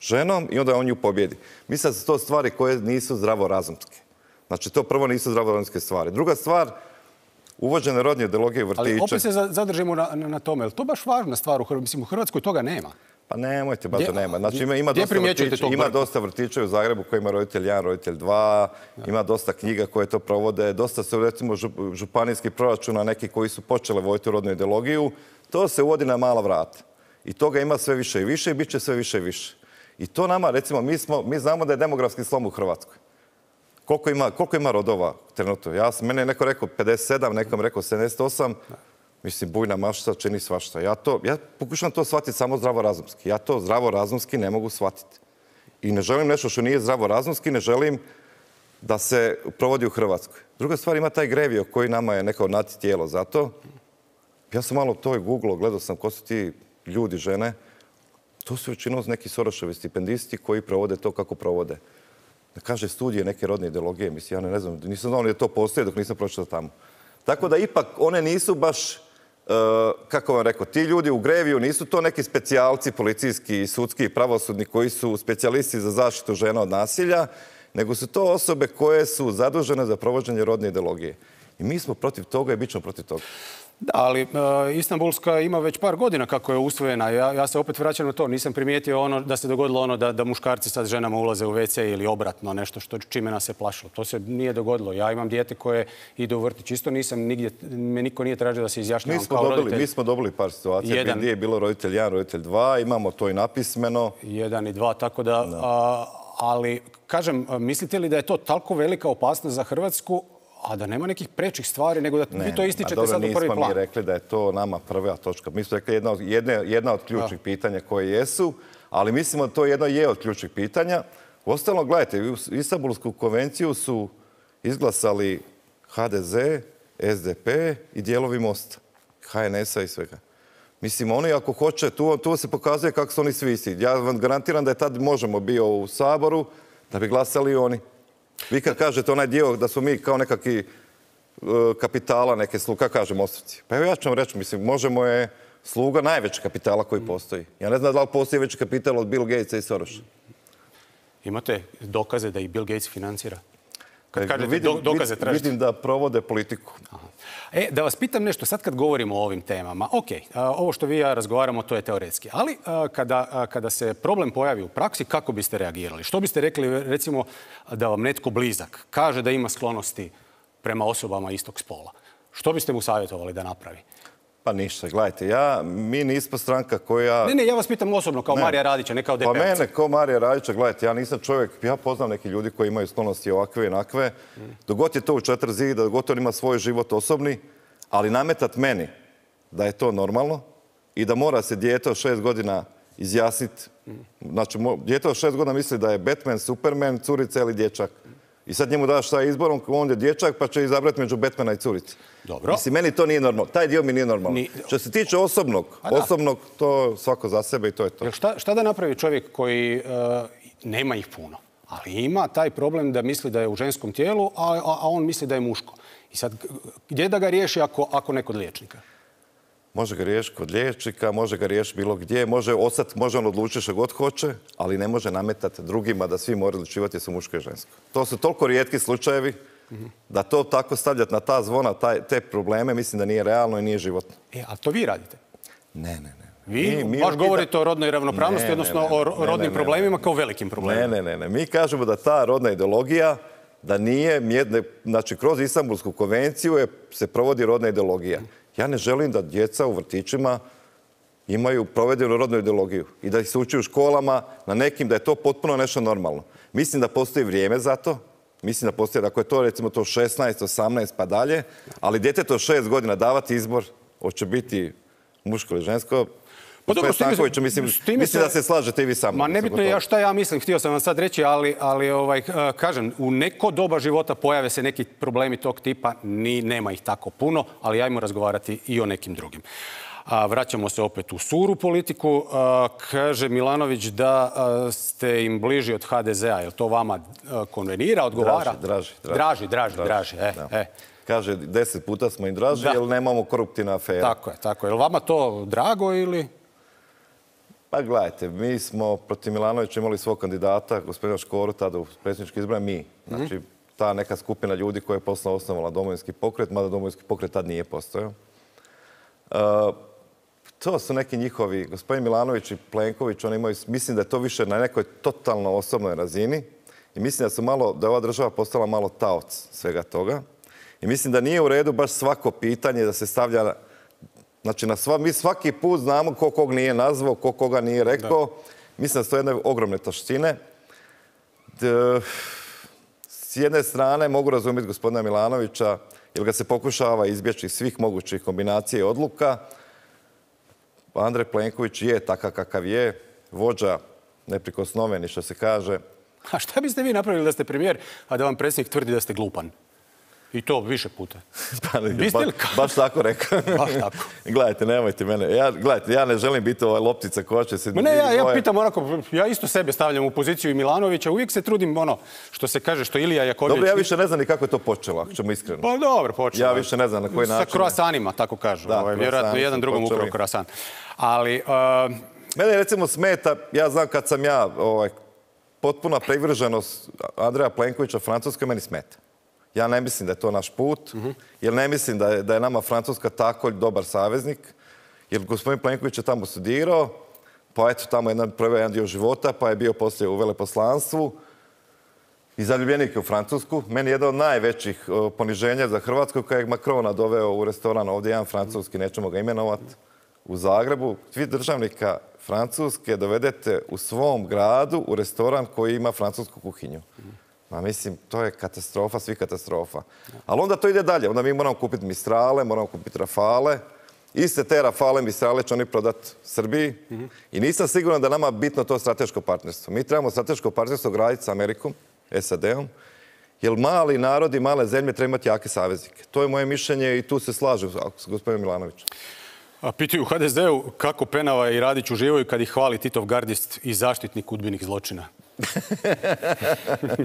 ženom i onda on nju pobjedi. Mislim da su to stvari koje nisu zdravorazumske. Znači, to prvo nisu zdravorazumske stvari. Druga stvar, uvođene rodne ideologije u vrtiće. Ali opet se zadržimo na, na tome. Je li to baš važna stvar u Hrvatskoj? Mislim, u Hrvatskoj toga nema. Pa nemojte, baš da nema. Znači, ima, ima, Gdje dosta primjećujete vrtića, tog ima brka? dosta vrtića u Zagrebu koji ima roditelj jedan, roditelj dva, ima dosta knjiga koje to provode, dosta su recimo žup- županijskih proračuna, neki koji su počele voditi rodnu ideologiju, to se uvodi na mala vrata. I toga ima sve više i više i bit će sve više i više. I to nama, recimo, mi, smo, mi znamo da je demografski slom u Hrvatskoj. Koliko ima, koliko ima rodova trenutno? Ja sam, mene je neko rekao pedeset sedam, nekom rekao sedamdeset osam. Mislim, bujna mašta čini svašta. Ja, to, ja pokušam to shvatiti samo zdravorazumski. Ja to zdravorazumski ne mogu shvatiti. I ne želim nešto što nije zdravorazumski, ne želim da se provodi u Hrvatskoj. Druga stvar, ima taj grevio koji nama je neko nati tijelo. Zato ja sam malo to i googlao, gledao sam ko su ti ljudi, žene. To su većinom neki Soroševi stipendisti koji provode to kako provode. Da kaže studije neke rodne ideologije, mislim, ja ne znam, nisam znao da to postoje dok nisam pročitao tamo. Tako da ipak one nisu baš, uh, kako vam rekao, ti ljudi u greviju nisu to neki specijalci policijski, sudski i pravosudni koji su specijalisti za zaštitu žena od nasilja, nego su to osobe koje su zadužene za provođenje rodne ideologije. I mi smo protiv toga i bit ćemo protiv toga. Da, ali e, Istanbulska ima već par godina kako je usvojena. Ja, ja se opet vraćam na to. Nisam primijetio ono da se dogodilo ono da, da muškarci sad ženama ulaze u ve ce ili obratno, nešto što čime nas se plašilo. To se nije dogodilo. Ja imam dijete koje ide u vrtić. Isto nisam nigdje, me niko nije tražio da se izjašnjavam kao dobili, roditelj. Mi smo dobili par situacija Jedan, gdje je bilo roditelj jedan, roditelj dva. Imamo to i napismeno. Jedan i dva, tako da... A, ali, kažem, mislite li da je to toliko velika opasnost za Hrvatsku, a da nema nekih prečih stvari, nego da ne, vi to ističete dobro, sad u prvi plan? Nismo mi rekli da je to nama prva točka. Mi smo rekli jedna od, jedna, jedna od ključnih a. pitanja koje jesu, ali mislimo da to jedno je od ključnih pitanja. Uostalom, gledajte, u Istanbulsku konvenciju su izglasali ha de ze, es de pe i dijelovi Mosta, ha en es a i svega. Mislim, oni ako hoće, tu, tu se pokazuje kako su oni svi isti. Ja vam garantiram da je tad Možemo bio u Saboru, da bi glasali oni. Vi kad kažete onaj dio da smo mi kao nekakvi uh, kapitala, neke sluga, kako kaže Mostovci? Pa evo ja ću vam reći, mislim, Možemo je sluga najvećeg kapitala koji postoji. Ja ne znam da li postoji veći kapital od Bill Gatesa i Sorosa. Imate dokaze da i Bill Gates financira? Kad kažete vidim, dokaze tražite? Vidim da provode politiku. Aha. E, da vas pitam nešto, sad kad govorimo o ovim temama, ok, a, ovo što vi i ja razgovaramo, to je teoretski, ali a, kada, a, kada se problem pojavi u praksi, kako biste reagirali? Što biste rekli, recimo, da vam netko blizak kaže da ima sklonosti prema osobama istog spola? Što biste mu savjetovali da napravi? Pa ništa, gledajte, ja, mi nismo stranka koja... Ne, ne, ja vas pitam osobno, kao ne. Marija Radića, ne kao de pe ovca. Pa mene, kao Marija Radića, gledajte, ja nisam čovjek, ja poznam neki ljudi koji imaju sklonosti ovakve i onakve. Mm. Dogod je to u četiri zida, dogod on ima svoj život osobni, ali nametat meni da je to normalno i da mora se dijete od šest godina izjasniti. Mm. Znači, dijete od šest godina misli da je Batman, Superman, curica ili dječak. I sad njemu daš taj izborom, on je dječak, pa će izabrati među Batmana i curice. Dobro. Mislim, meni to nije normalno. Taj dio mi nije normalno. Ni... Što se tiče osobnog, osobnog, to svako za sebe i to je to. Šta, šta da napravi čovjek koji uh, nema ih puno, ali ima taj problem da misli da je u ženskom tijelu, a, a, a on misli da je muško? I sad, gdje da ga riješi ako, ako ne kod liječnika? Može ga riješiti kod liječnika, može ga riješiti bilo gdje, može ostati, može on odlučiti što god hoće, ali ne može nametati drugima da svi moraju odlučivati jesu muško i žensko. To su toliko rijetki slučajevi mm-hmm. da to tako stavljati na ta zvona, taj, te probleme, mislim da nije realno i nije životno. E, a to vi radite? Ne, ne, ne. Vi mi, mi baš govorite da... o rodnoj ravnopravnosti, ne, odnosno ne, ne, o rodnim ne, ne, problemima ne, kao velikim problemima. Ne, ne, ne, ne. Mi kažemo da ta rodna ideologija, da nije, mjedne, znači kroz Istanbulsku konvenciju je, se provodi rodna ideologija. Ja ne želim da djeca u vrtićima imaju provedenu rodnu ideologiju i da ih se uči u školama na nekim, da je to potpuno nešto normalno. Mislim da postoji vrijeme za to. Mislim da postoji, ako je to recimo to šesnaest, osamnaest pa dalje, ali djetetu od šest godina davati izbor, hoće biti muško ili žensko, Pa dobro, Stankoviću, mislim, mislim se... da se slažete i vi sami. Ma nebitno je ja šta ja mislim, htio sam vam sad reći, ali, ali ovaj, kažem, u neko doba života pojave se neki problemi tog tipa, ni, nema ih tako puno, ali ajmo razgovarati i o nekim drugim. A, vraćamo se opet u suru politiku. A, kaže Milanović da a, ste im bliži od ha de ze a. Je li to vama a, konvenira, odgovara? Draži, draži. Draži, draži, draži. draži. E, e. Kaže, deset puta smo im draži, jer nemamo koruptivna afera. Tako je, tako je. Je li vama to drago ili... Pa gledajte, mi smo protiv Milanovića imali svog kandidata, gospodina Škoru, tada u predsjednički izbor, mi. Znači, ta neka skupina ljudi koja je posle osnovala Domovinski pokret, mada Domovinski pokret tad nije postojao. Uh, to su neki njihovi, gospodin Milanović i Plenković, oni imaju, mislim da je to više na nekoj totalno osobnoj razini i mislim da su malo, da je ova država postala malo taoc svega toga. I mislim da nije u redu baš svako pitanje da se stavlja, znači na sva, mi svaki put znamo ko kog nije nazvao, ko koga nije rekao. Da. Mislim da su to jedne ogromne taštine. D, s jedne strane mogu razumjeti gospodina Milanovića, jer ga se pokušava izbjeći svih mogućih kombinacija i odluka. Andrej Plenković je takav kakav je, vođa neprikosnoveni, što se kaže. A šta biste vi napravili da ste premijer, a da vam predsjednik tvrdi da ste glupan? I to više puta. Pa, ba, baš tako rekao. Baš tako. Gledajte, nemojte mene. Ja, gledajte, ja ne želim biti ovaj loptica koja će se... Ma ne, ja, ja pitam onako, ja isto sebe stavljam u poziciju i Milanovića. Uvijek se trudim ono što se kaže, što Ilija Jakovljević... Dobro, ja više ne znam ni kako je to počelo, ako ćemo iskreno. Pa dobro, počelo. Ja više ne znam na koji način. Sa kroasanima, tako kažu. Da, ovaj, vjerojatno jedan drugom ukrao kroasan. Ali... Uh... Mene recimo smeta, ja znam kad sam ja ovaj, potpuna privrženost Andreja Plenkovića Francuskoj, meni smeta. Ja ne mislim da je to naš put, uh-huh. jer ne mislim da je, da je nama Francuska tako dobar saveznik, jer gospodin Plenković je tamo studirao, pa eto tamo je proveo jedan dio života, pa je bio poslije u veleposlanstvu i zaljubljenik je u Francusku. Meni je jedan od najvećih uh, poniženja za Hrvatsku kada je Macrona doveo u restoran, ovdje jedan francuski, nećemo ga imenovati, u Zagrebu. Svi državnika Francuske dovedete u svom gradu u restoran koji ima francusku kuhinju. Ma mislim, to je katastrofa, svi katastrofa. Ali onda to ide dalje. Onda mi moramo kupiti Mistrale, moramo kupiti Rafale. Iste te Rafale, Mistrale će oni prodati Srbiji. Mm-hmm. I nisam siguran da nama bitno to strateško partnerstvo. Mi trebamo strateško partnerstvo graditi sa Amerikom, S A D-om, jer mali narodi, male zemlje treba imati jake saveznike. To je moje mišljenje i tu se slažem s gospodinom Milanovićem. A pitaju u ha de ze-u kako Penava i Radić uživaju kad ih hvali Titov gardist i zaštitnik udbinih zločina.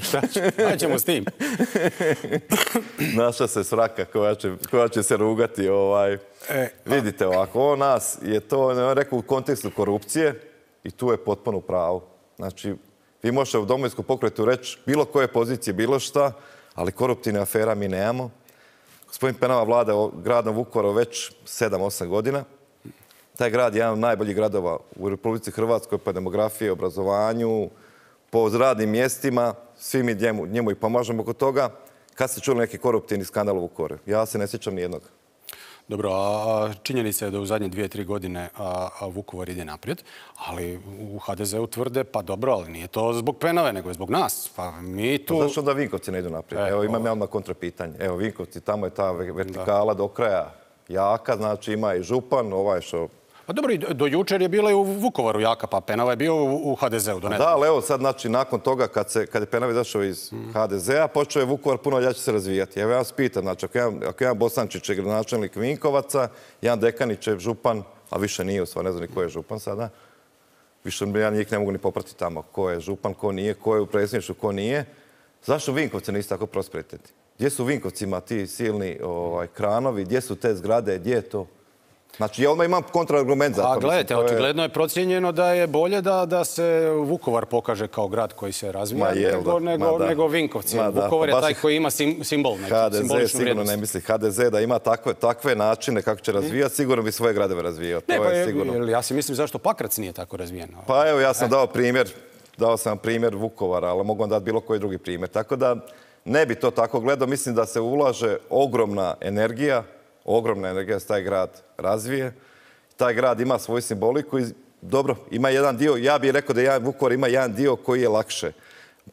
Šta ćemo s tim? Naša se sraka koja će, koja će se rugati. Ovaj. E, Vidite ovako, on nas je to, ne rekao, u kontekstu korupcije i tu je potpuno pravo. Znači, vi možete u Domovinskom pokretu reći bilo koje pozicije, bilo šta, ali koruptivne afera mi nemamo. Gospodin Penava vlada gradom Vukovaru već sedam osam godina. Taj grad je jedan od najboljih gradova u Republici Hrvatskoj po demografiji, obrazovanju, po radnim mjestima. Svi mi njemu, njemu i pomažemo oko toga. Kad ste čuli neki koruptivni skandal u Vukovaru? Ja se ne sjećam nijednog. Dobro, a činjenica je da u zadnje dvije, tri godine a, a Vukovar ide naprijed, ali u ha de ze-u tvrde, pa dobro, ali nije to zbog Penave, nego je zbog nas. Pa mi tu... Pa zašto da Vinkovci ne idu naprijed? E, Evo, imam ja odmah kontrapitanje. Evo, Vinkovci, tamo je ta vertikala do kraja jaka, znači ima i župan, ovaj što... Pa dobro, i do jučer je bila i u Vukovaru jaka, pa Penava je bio u ha de ze-u. Da, ali evo sad, znači, nakon toga, kad, se, kad je Penava izašao iz mm. ha de ze-a, počeo je Vukovar puno ljače se razvijati. Evo ja vas pitam, znači, ako jedan, ako jedan Bosančić je gradonačelnik Vinkovaca, jedan Dekanić je župan, a više nije, u stvari ne znam ni ko je župan sada, više ja njih ne mogu ni popratiti tamo ko je župan, ko nije, ko je u predsjedništvu, ko nije. Zašto Vinkovci nisu tako prosperitetni? Gdje su u Vinkovcima ti silni ovaj, kranovi, gdje su te zgrade, gdje je to? Znači, ja odmah imam kontraargument za to. A gledajte, je... očigledno je procijenjeno da je bolje da, da se Vukovar pokaže kao grad koji se razvija je, nego, nego, nego Vinkovci. Ma, Vukovar pa je taj koji ima sim, simbol, neki, ha de ze simboličnu sigurno vrijednost. Ne misli ha de ze da ima takve, takve načine kako će razvijati, sigurno bi svoje gradove razvijao. Ne, to pa je je, sigurno. Ja si mislim zašto Pakrac nije tako razvijen. Pa evo, ja sam e. dao primjer, dao sam primjer Vukovara, ali mogu vam dati bilo koji drugi primjer. Tako da ne bi to tako gledao. Mislim da se ulaže ogromna energija, ogromna energija da se taj grad razvije. Taj grad ima svoju simboliku i dobro, ima jedan dio, ja bih rekao da jedan Vukovar ima jedan dio koji je lakše.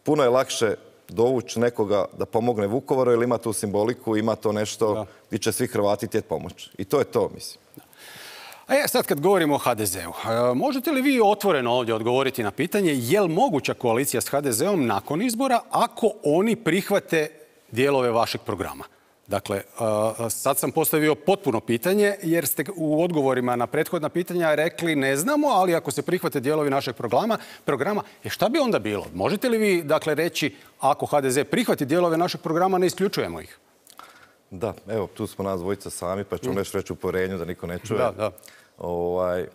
Puno je lakše dovući nekoga da pomogne Vukovaru jer ima tu simboliku, ima to nešto gdje će svi Hrvati htjeti pomoći. I to je to, mislim. A ja sad kad govorimo o ha de ze-u, možete li vi otvoreno ovdje odgovoriti na pitanje je li moguća koalicija s ha de ze-om nakon izbora ako oni prihvate dijelove vašeg programa? Dakle, sad sam postavio potpuno pitanje jer ste u odgovorima na prethodna pitanja rekli ne znamo, ali ako se prihvate dijelovi našeg programa, programa je šta bi onda bilo? Možete li vi dakle reći ako ha de ze prihvati dijelove našeg programa, ne isključujemo ih? Da, evo, tu smo nas dvojica sami, pa ćemo mm. reći u porenju da niko ne čuje. Da, da. Ovaj,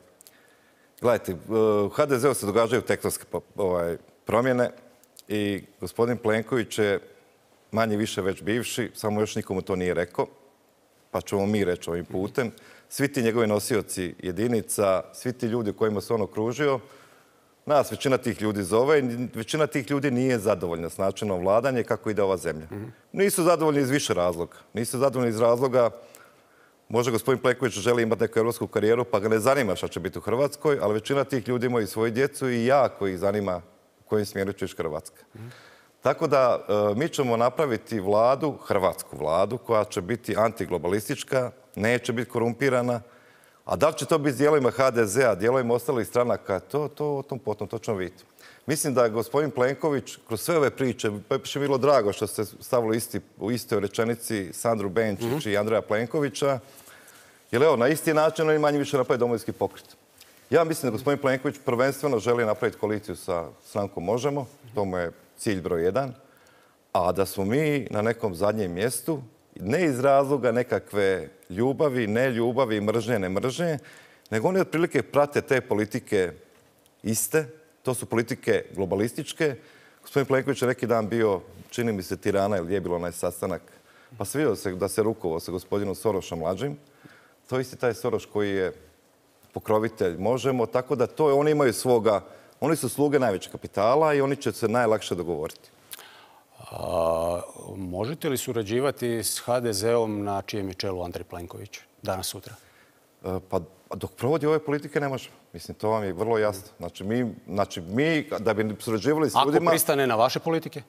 gledajte, u ha de ze-u se događaju tektonske ovaj, promjene i gospodin Plenković je manje više već bivši, samo još nikomu to nije rekao, pa ćemo mi reći ovim putem. svi ti njegovi nosioci jedinica, svi ti ljudi kojima se on okružio, nas većina tih ljudi zove i većina tih ljudi nije zadovoljna s načinom vladanja i kako ide ova zemlja. Nisu zadovoljni iz više razloga. Nisu zadovoljni iz razloga, možda gospodin Plenković želi imati neku evropsku karijeru pa ga ne zanima šta će biti u Hrvatskoj, ali većina tih ljudi imaju svoju djecu i jako ih zanima u kojim smjeru će ići Hrvatska. Tako da mi ćemo napraviti vladu, hrvatsku vladu, koja će biti antiglobalistička, neće biti korumpirana, a da li će to biti s dijelovima ha de zea, dijelovima ostalih stranaka, to, to o tom potom, to ćemo vidjeti. Mislim da je gospodin Plenković kroz sve ove priče, pa je bilo drago što ste stavili isti, u istoj rečenici Sandru Benčić mm-hmm. i Andreja Plenkovića, jer evo, na isti način oni manje više napraviti Domovinski pokret. Ja mislim da gospodin Plenković prvenstveno želi napraviti koaliciju sa strankom Možemo, to mu je cilj broj jedan, a da smo mi na nekom zadnjem mjestu, ne iz razloga nekakve ljubavi, ne ljubavi, mržnje, ne mržnje, nego oni otprilike prate te politike iste, to su politike globalističke. Gospodin Plenković je neki dan bio, čini mi se, Tirana ili je bilo onaj sastanak, pa se vidio se da se rukovao sa gospodinom Sorošom mlađim. To je isti taj Soroš koji je pokrovitelj Možemo, tako da to oni imaju svoga, oni su sluge najvećeg kapitala i oni će se najlakše dogovoriti. A, možete li surađivati s ha de zeom na čijem je čelu Andrej Plenković danas sutra? Pa dok provodi ove politike ne možemo. Mislim, to vam je vrlo jasno. Znači, mi, znači, mi da bi surađivali s ljudima... Ako pristane na vaše politike?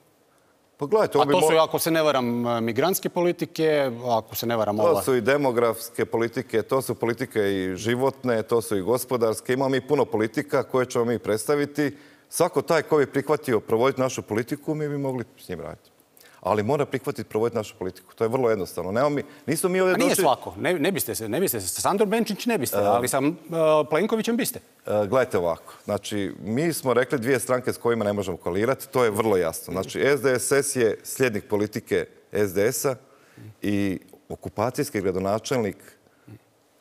Pa gledajte... A to su, ako se ne varam, migrantske politike, ako se ne varam ova... To su i demografske politike, to su politike i životne, to su i gospodarske. Imamo mi puno politika koje ćemo mi predstaviti. Svako taj ko bi prihvatio provoditi našu politiku, mi bi mogli s njim raditi. Ali mora prihvatiti provoditi našu politiku. To je vrlo jednostavno. Nemo mi, nismo mi ovdje došli... A nije došli... svako. Ne, ne biste se. Ne biste se. Sa Sandor Benčić ne biste, ali sa uh, Plenkovićem biste. Uh, gledajte ovako. Znači, mi smo rekli dvije stranke s kojima ne možemo koalirati. To je vrlo jasno. Znači, es de es es je slijednik politike es de es a i okupacijski gradonačelnik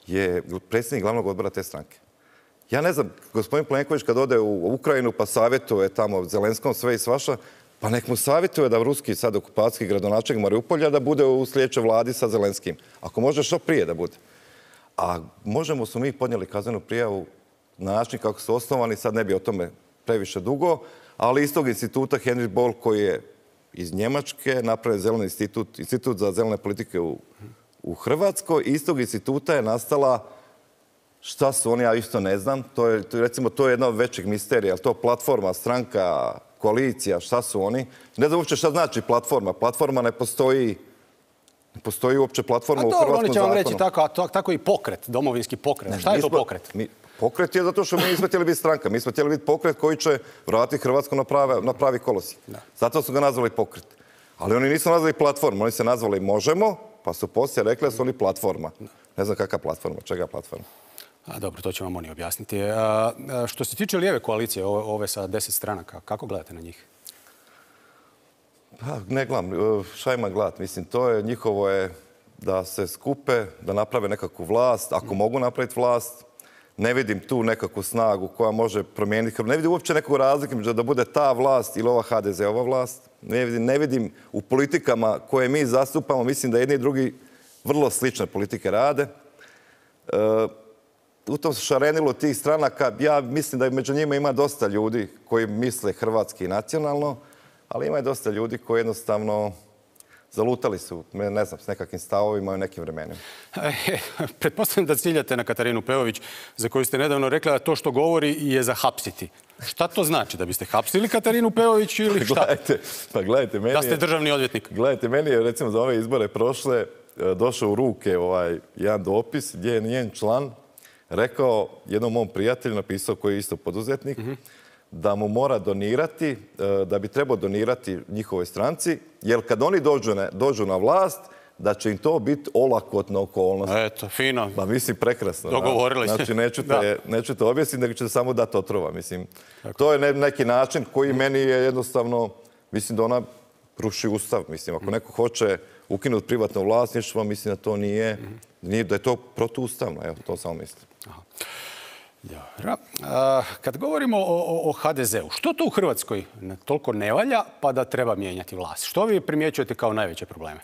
je predsjednik glavnog odbora te stranke. Ja ne znam, gospodin Plenković kad ode u Ukrajinu pa savjetuje tamo Zelenskom sve i svaša, pa nek mu savjetuje da ruski sad okupacijski gradonačelnik Mariupolja da bude u sljedećoj vladi sa Zelenskim. Ako može što prije da bude. A Možemo su mi podnijeli kaznenu prijavu na način kako su osnovani, sad ne bi o tome previše dugo, ali iz tog instituta Henry Boll koji je iz Njemačke napravio zeleni institut, institut za zelene politike u, u Hrvatskoj. Iz tog instituta je nastala, šta su oni, ja isto ne znam, to je, recimo, to je jedna od većih misterija, to platforma, stranka, koalicija, šta su oni. Ne znam uopće šta znači platforma. Platforma ne postoji, ne postoji uopće platforma u hrvatskom zakonu. Oni će vam reći tako, tako i pokret, domovinski pokret. Ne, šta je to pokret? Mi, pokret je zato što mi nismo htjeli biti stranka. Mi smo htjeli biti pokret koji će vratiti Hrvatsku na, prave, na pravi kolosijek. Zato su ga nazvali pokret. Ali oni nisu nazvali platformu, oni se nazvali Možemo, pa su poslije rekli da su oni platforma. Ne znam kakva platforma, čega platforma. A, dobro, to će vam oni objasniti. A, a, što se tiče lijeve koalicije, ove, ove sa deset stranaka, kako gledate na njih? Pa, ne gledam. Šta ima gledat? Mislim, to je njihovo je da se skupe, da naprave nekakvu vlast, ako mm. mogu napraviti vlast. Ne vidim tu nekakvu snagu koja može promijeniti. Ne vidim uopće nekog razlike među da bude ta vlast ili ova ha de zeova vlast. Ne vidim, ne vidim u politikama koje mi zastupamo, mislim da jedni i drugi vrlo slične politike rade. E, u tom šarenilu tih stranaka, ja mislim da među njima ima dosta ljudi koji misle hrvatski i nacionalno, ali ima i dosta ljudi koji jednostavno zalutali su, ne znam, s nekakvim stavovima i nekim vremenima. E, pretpostavljam da ciljate na Katarinu Peović, za koju ste nedavno rekla da to što govori je za hapsiti. Šta to znači? Da biste hapsili Katarinu Peović ili šta? Gledajte, pa gledajte, meni da ste državni odvjetnik. Gledajte, meni je recimo za ove izbore prošle došao u ruke ovaj jedan dopis gdje je njen član rekao jednom mom prijatelju, napisao koji je isto poduzetnik, mm-hmm. da mu mora donirati, da bi trebao donirati njihovoj stranci, jer kad oni dođu na, dođu na vlast, da će im to biti olakotna okolnost. Eto, fino. Pa mislim, prekrasno. Dogovorili ste. Znači, neću te, neću te objasniti, nego ću samo dati otrova. Mislim, tako. To je ne, neki način koji meni je jednostavno, mislim da ona ruši ustav. Mislim, ako neko hoće ukinuti privatno vlasništvo, mislim da to nije, nije da je to protuustavno. Evo, to samo mislim. Aha. Dobro. A, kad govorimo o, o, o ha de zeu, što to u Hrvatskoj toliko ne valja pa da treba mijenjati vlast? Što vi primjećujete kao najveće probleme?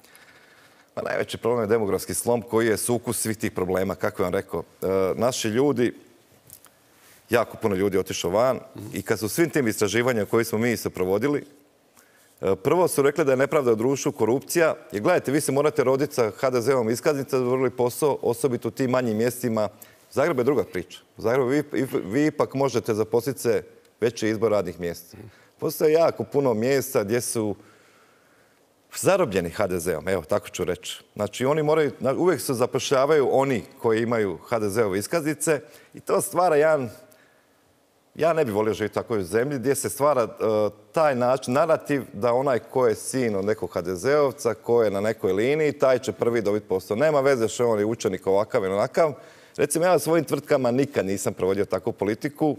Pa najveći problem je demografski slom koji je sukus svih tih problema, kako vam rekao. E, naši ljudi, jako puno ljudi otišlo van i kad su svim tim istraživanjima koje smo mi se provodili, e, prvo su rekli da je nepravda u društvu, korupcija. Jer gledajte, vi se morate roditi sa ha de ze-ovom iskaznicom da vrli posao, osobito u tim manjim mjestima. Zagreb je druga priča. U Zagrebu vi, vi ipak možete zaposliti se veći izbor radnih mjesta. Postoje jako puno mjesta gdje su zarobljeni ha de ze-om, evo, tako ću reći. Znači, oni moraju, uvijek se zapošljavaju oni koji imaju ha de ze-ove iskaznice i to stvara jedan, ja ne bih volio živjeti u takvoj zemlji, gdje se stvara uh, taj način, narativ da onaj ko je sin od nekog ha de ze-ovca, ko je na nekoj liniji, taj će prvi dobiti posao. Nema veze što on je učenik ovakav ili onakav. Recimo, ja u svojim tvrtkama nikad nisam provodio takvu politiku.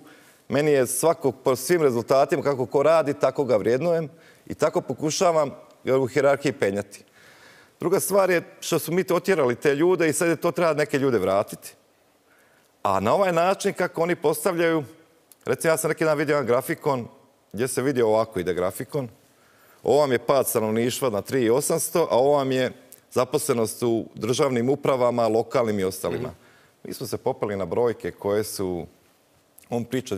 Meni je svako po svim rezultatima, kako ko radi, tako ga vrijednujem i tako pokušavam u hijerarhiji penjati. Druga stvar je što su mi to otjerali te ljude i sad je to treba neke ljude vratiti. A na ovaj način kako oni postavljaju, recimo ja sam neki dan vidio jedan grafikon gdje se vidi ovako ide grafikon. Ovo vam je pad stanovništva na tri tisuće osamsto, a ovo vam je zaposlenost u državnim upravama, lokalnim i ostalima. Mi smo se popeli na brojke koje su, on priča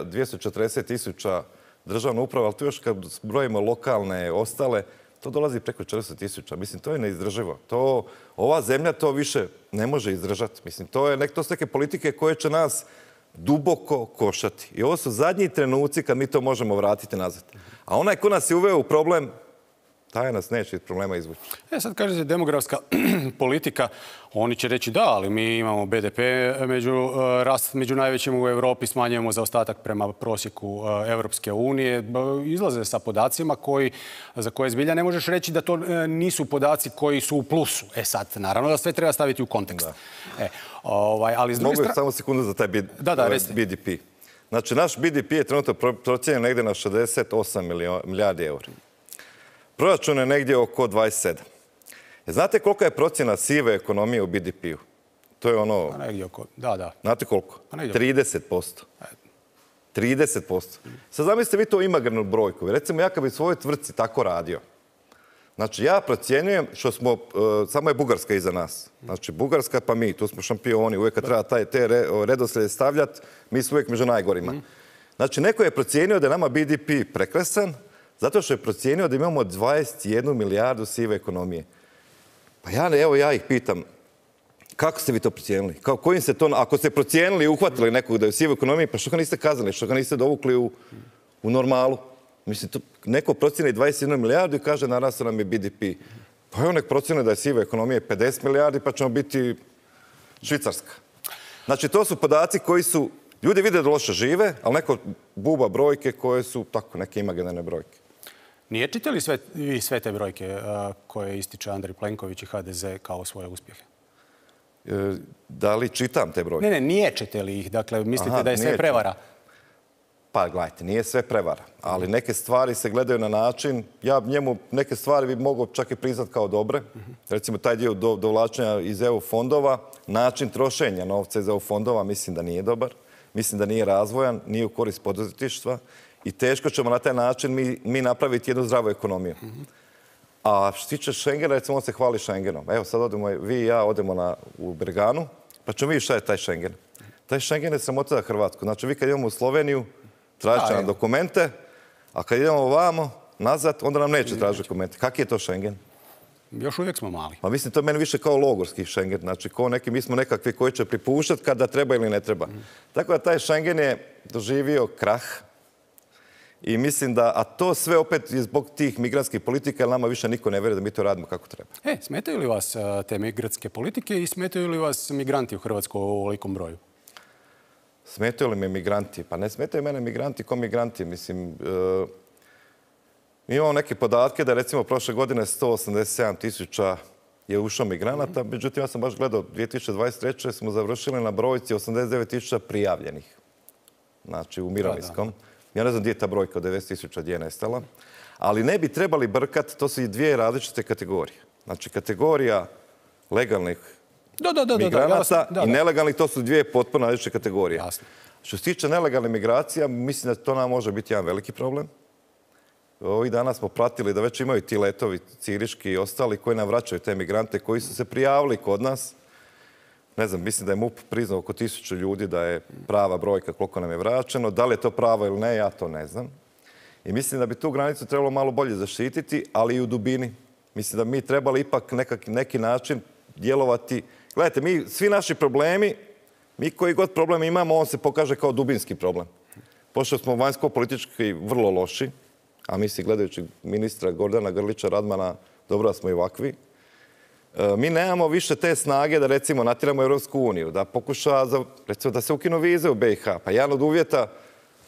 dvjesto četrdeset tisuća državna uprava, ali tu još kad brojimo lokalne ostale, to dolazi preko četiristo tisuća. Mislim, to je neizdrživo. To, ova zemlja to više ne može izdržati. Mislim, to, je, to su neke politike koje će nas duboko košati. I ovo su zadnji trenuci kad mi to možemo vratiti nazad. A onaj ko nas je uveo u problem, taj nas neće iz problema izvući. E sad kažete demografska politika, oni će reći da, ali mi imamo be de pe među, rast među najvećim u Europi, smanjujemo zaostatak prema prosjeku Europske unije. Izlaze sa podacima koji, za koje zbilja ne možeš reći da to nisu podaci koji su u plusu. E sad, naravno da sve treba staviti u kontekst. E, ovaj, ali s druge Mogu strane... samo sekundu za taj B D P. Da, da, be de pe. Znači, naš be de pe je trenutno procijenjen negdje na šezdeset osam milijardi eura. Proračun je negdje oko dvadeset sedam. Znate kolika je procjena sive ekonomije u be de pe-u? To je ono... Pa negdje oko, da, da. Znate koliko? Pa negdje oko. trideset posto. trideset posto. Sad zamislite vi to imaginarnu brojku. Recimo ja kad bi u svojoj tvrtci tako radio. Znači ja procjenjujem što smo, uh, samo je Bugarska iza nas. Znači Bugarska pa mi, tu smo šampioni. Uvijek kad treba taj, te redoslijede stavljati, mi smo uvijek među najgorima. Znači neko je procijenio da je nama be de pe prekresan, zato što je procijenio da imamo dvadeset jednu milijardu sive ekonomije. Pa ja, evo ja ih pitam, kako ste vi to procijenili? Kao, kojim se to, ako ste procijenili i uhvatili nekog da je u sivoj ekonomiji, pa što ga niste kazali, što ga niste dovukli u, u normalu? Mislim, to, neko procijeni dvadeset jednu milijardu i kaže narastao nam je be de pe. Pa evo nek procijene da je siva ekonomija pedeset milijardi, pa ćemo biti Švicarska. Znači, to su podaci koji su, ljudi vide da loše žive, ali neko buba brojke koje su tako neke imaginarne brojke. Nije čitali sve, vi sve te brojke uh, koje ističe Andrej Plenković i ha de ze kao svoje uspjehe? E, da li čitam te brojke? Ne, ne, niječete li ih? Dakle, mislite Aha, da je sve niječem. prevara? Pa gledajte, nije sve prevara, ali neke stvari se gledaju na način, ja njemu neke stvari bi mogao čak i priznat kao dobre. Recimo taj dio do, dovlačenja iz e u fondova, način trošenja novca iz e u fondova mislim da nije dobar, mislim da nije razvojan, nije u korist poduzetništva i teško ćemo na taj način mi, mi napraviti jednu zdravu ekonomiju. A što se tiče Schengena, recimo on se hvali Schengenom. Evo sad odemo, vi i ja odemo na, u Berganu, pa ćemo vidjeti šta je taj Schengen. Taj Schengen je sramota za Hrvatsku. Znači vi kad idemo u Sloveniju, tražit će nam dokumente, a kad idemo ovamo, nazad, onda nam neće tražiti dokumente. Kaki je to Schengen? Još uvijek smo mali. Pa mislim, to je meni više kao logorski Schengen. Znači, ko neki, mi smo nekakvi koji će pripuštati kada treba ili ne treba. Mm. Tako da taj Schengen je doživio krah. I mislim da, a to sve opet je zbog tih migrantskih politika, jer nama više niko ne vjeruje da mi to radimo kako treba. E, smetaju li vas te migrantske politike i smetaju li vas migranti u Hrvatskoj u ovolikom broju? Smetaju li me migranti? Pa ne smetaju mene migranti ko migranti. Mislim, e, mi imamo neke podatke da recimo prošle godine sto osamdeset sedam tisuća je ušlo migranata, međutim ja sam baš gledao dvije tisuće dvadeset treće smo završili na brojci osamdeset devet tisuća prijavljenih. Znači u mirovinskom. Da, da. Ja ne znam gdje je ta brojka od devedeset tisuća gdje je nestala. Ali ne bi trebali brkati, to su i dvije različite kategorije. Znači kategorija legalnih Da, da, da, migranata da, da, da. i nelegalnih, to su dvije potpuno različite kategorije. Jasno. Što se tiče nelegalnih migracija, mislim da to nam može biti jedan veliki problem. ovih dana smo pratili da već imaju ti letovi ciriški i ostali koji nam vraćaju te migrante koji su se prijavili kod nas. Ne znam, mislim da je MUP priznao oko tisuću ljudi da je prava brojka koliko nam je vraćeno. Da li je to pravo ili ne, ja to ne znam. I mislim da bi tu granicu trebalo malo bolje zaštititi, ali i u dubini. Mislim da mi trebali ipak nekak, neki način djelovati. Gledajte, mi, svi naši problemi, mi koji god problem imamo, on se pokaže kao dubinski problem. Pošto smo vanjsko-politički vrlo loši, a mislim, gledajući ministra Gordana Grlića Radmana, dobro da smo i ovakvi, mi nemamo više te snage da, recimo, natjeramo Europsku uniju, da pokuša, za, recimo, da se ukinu vize u B i H. Pa jedan od uvjeta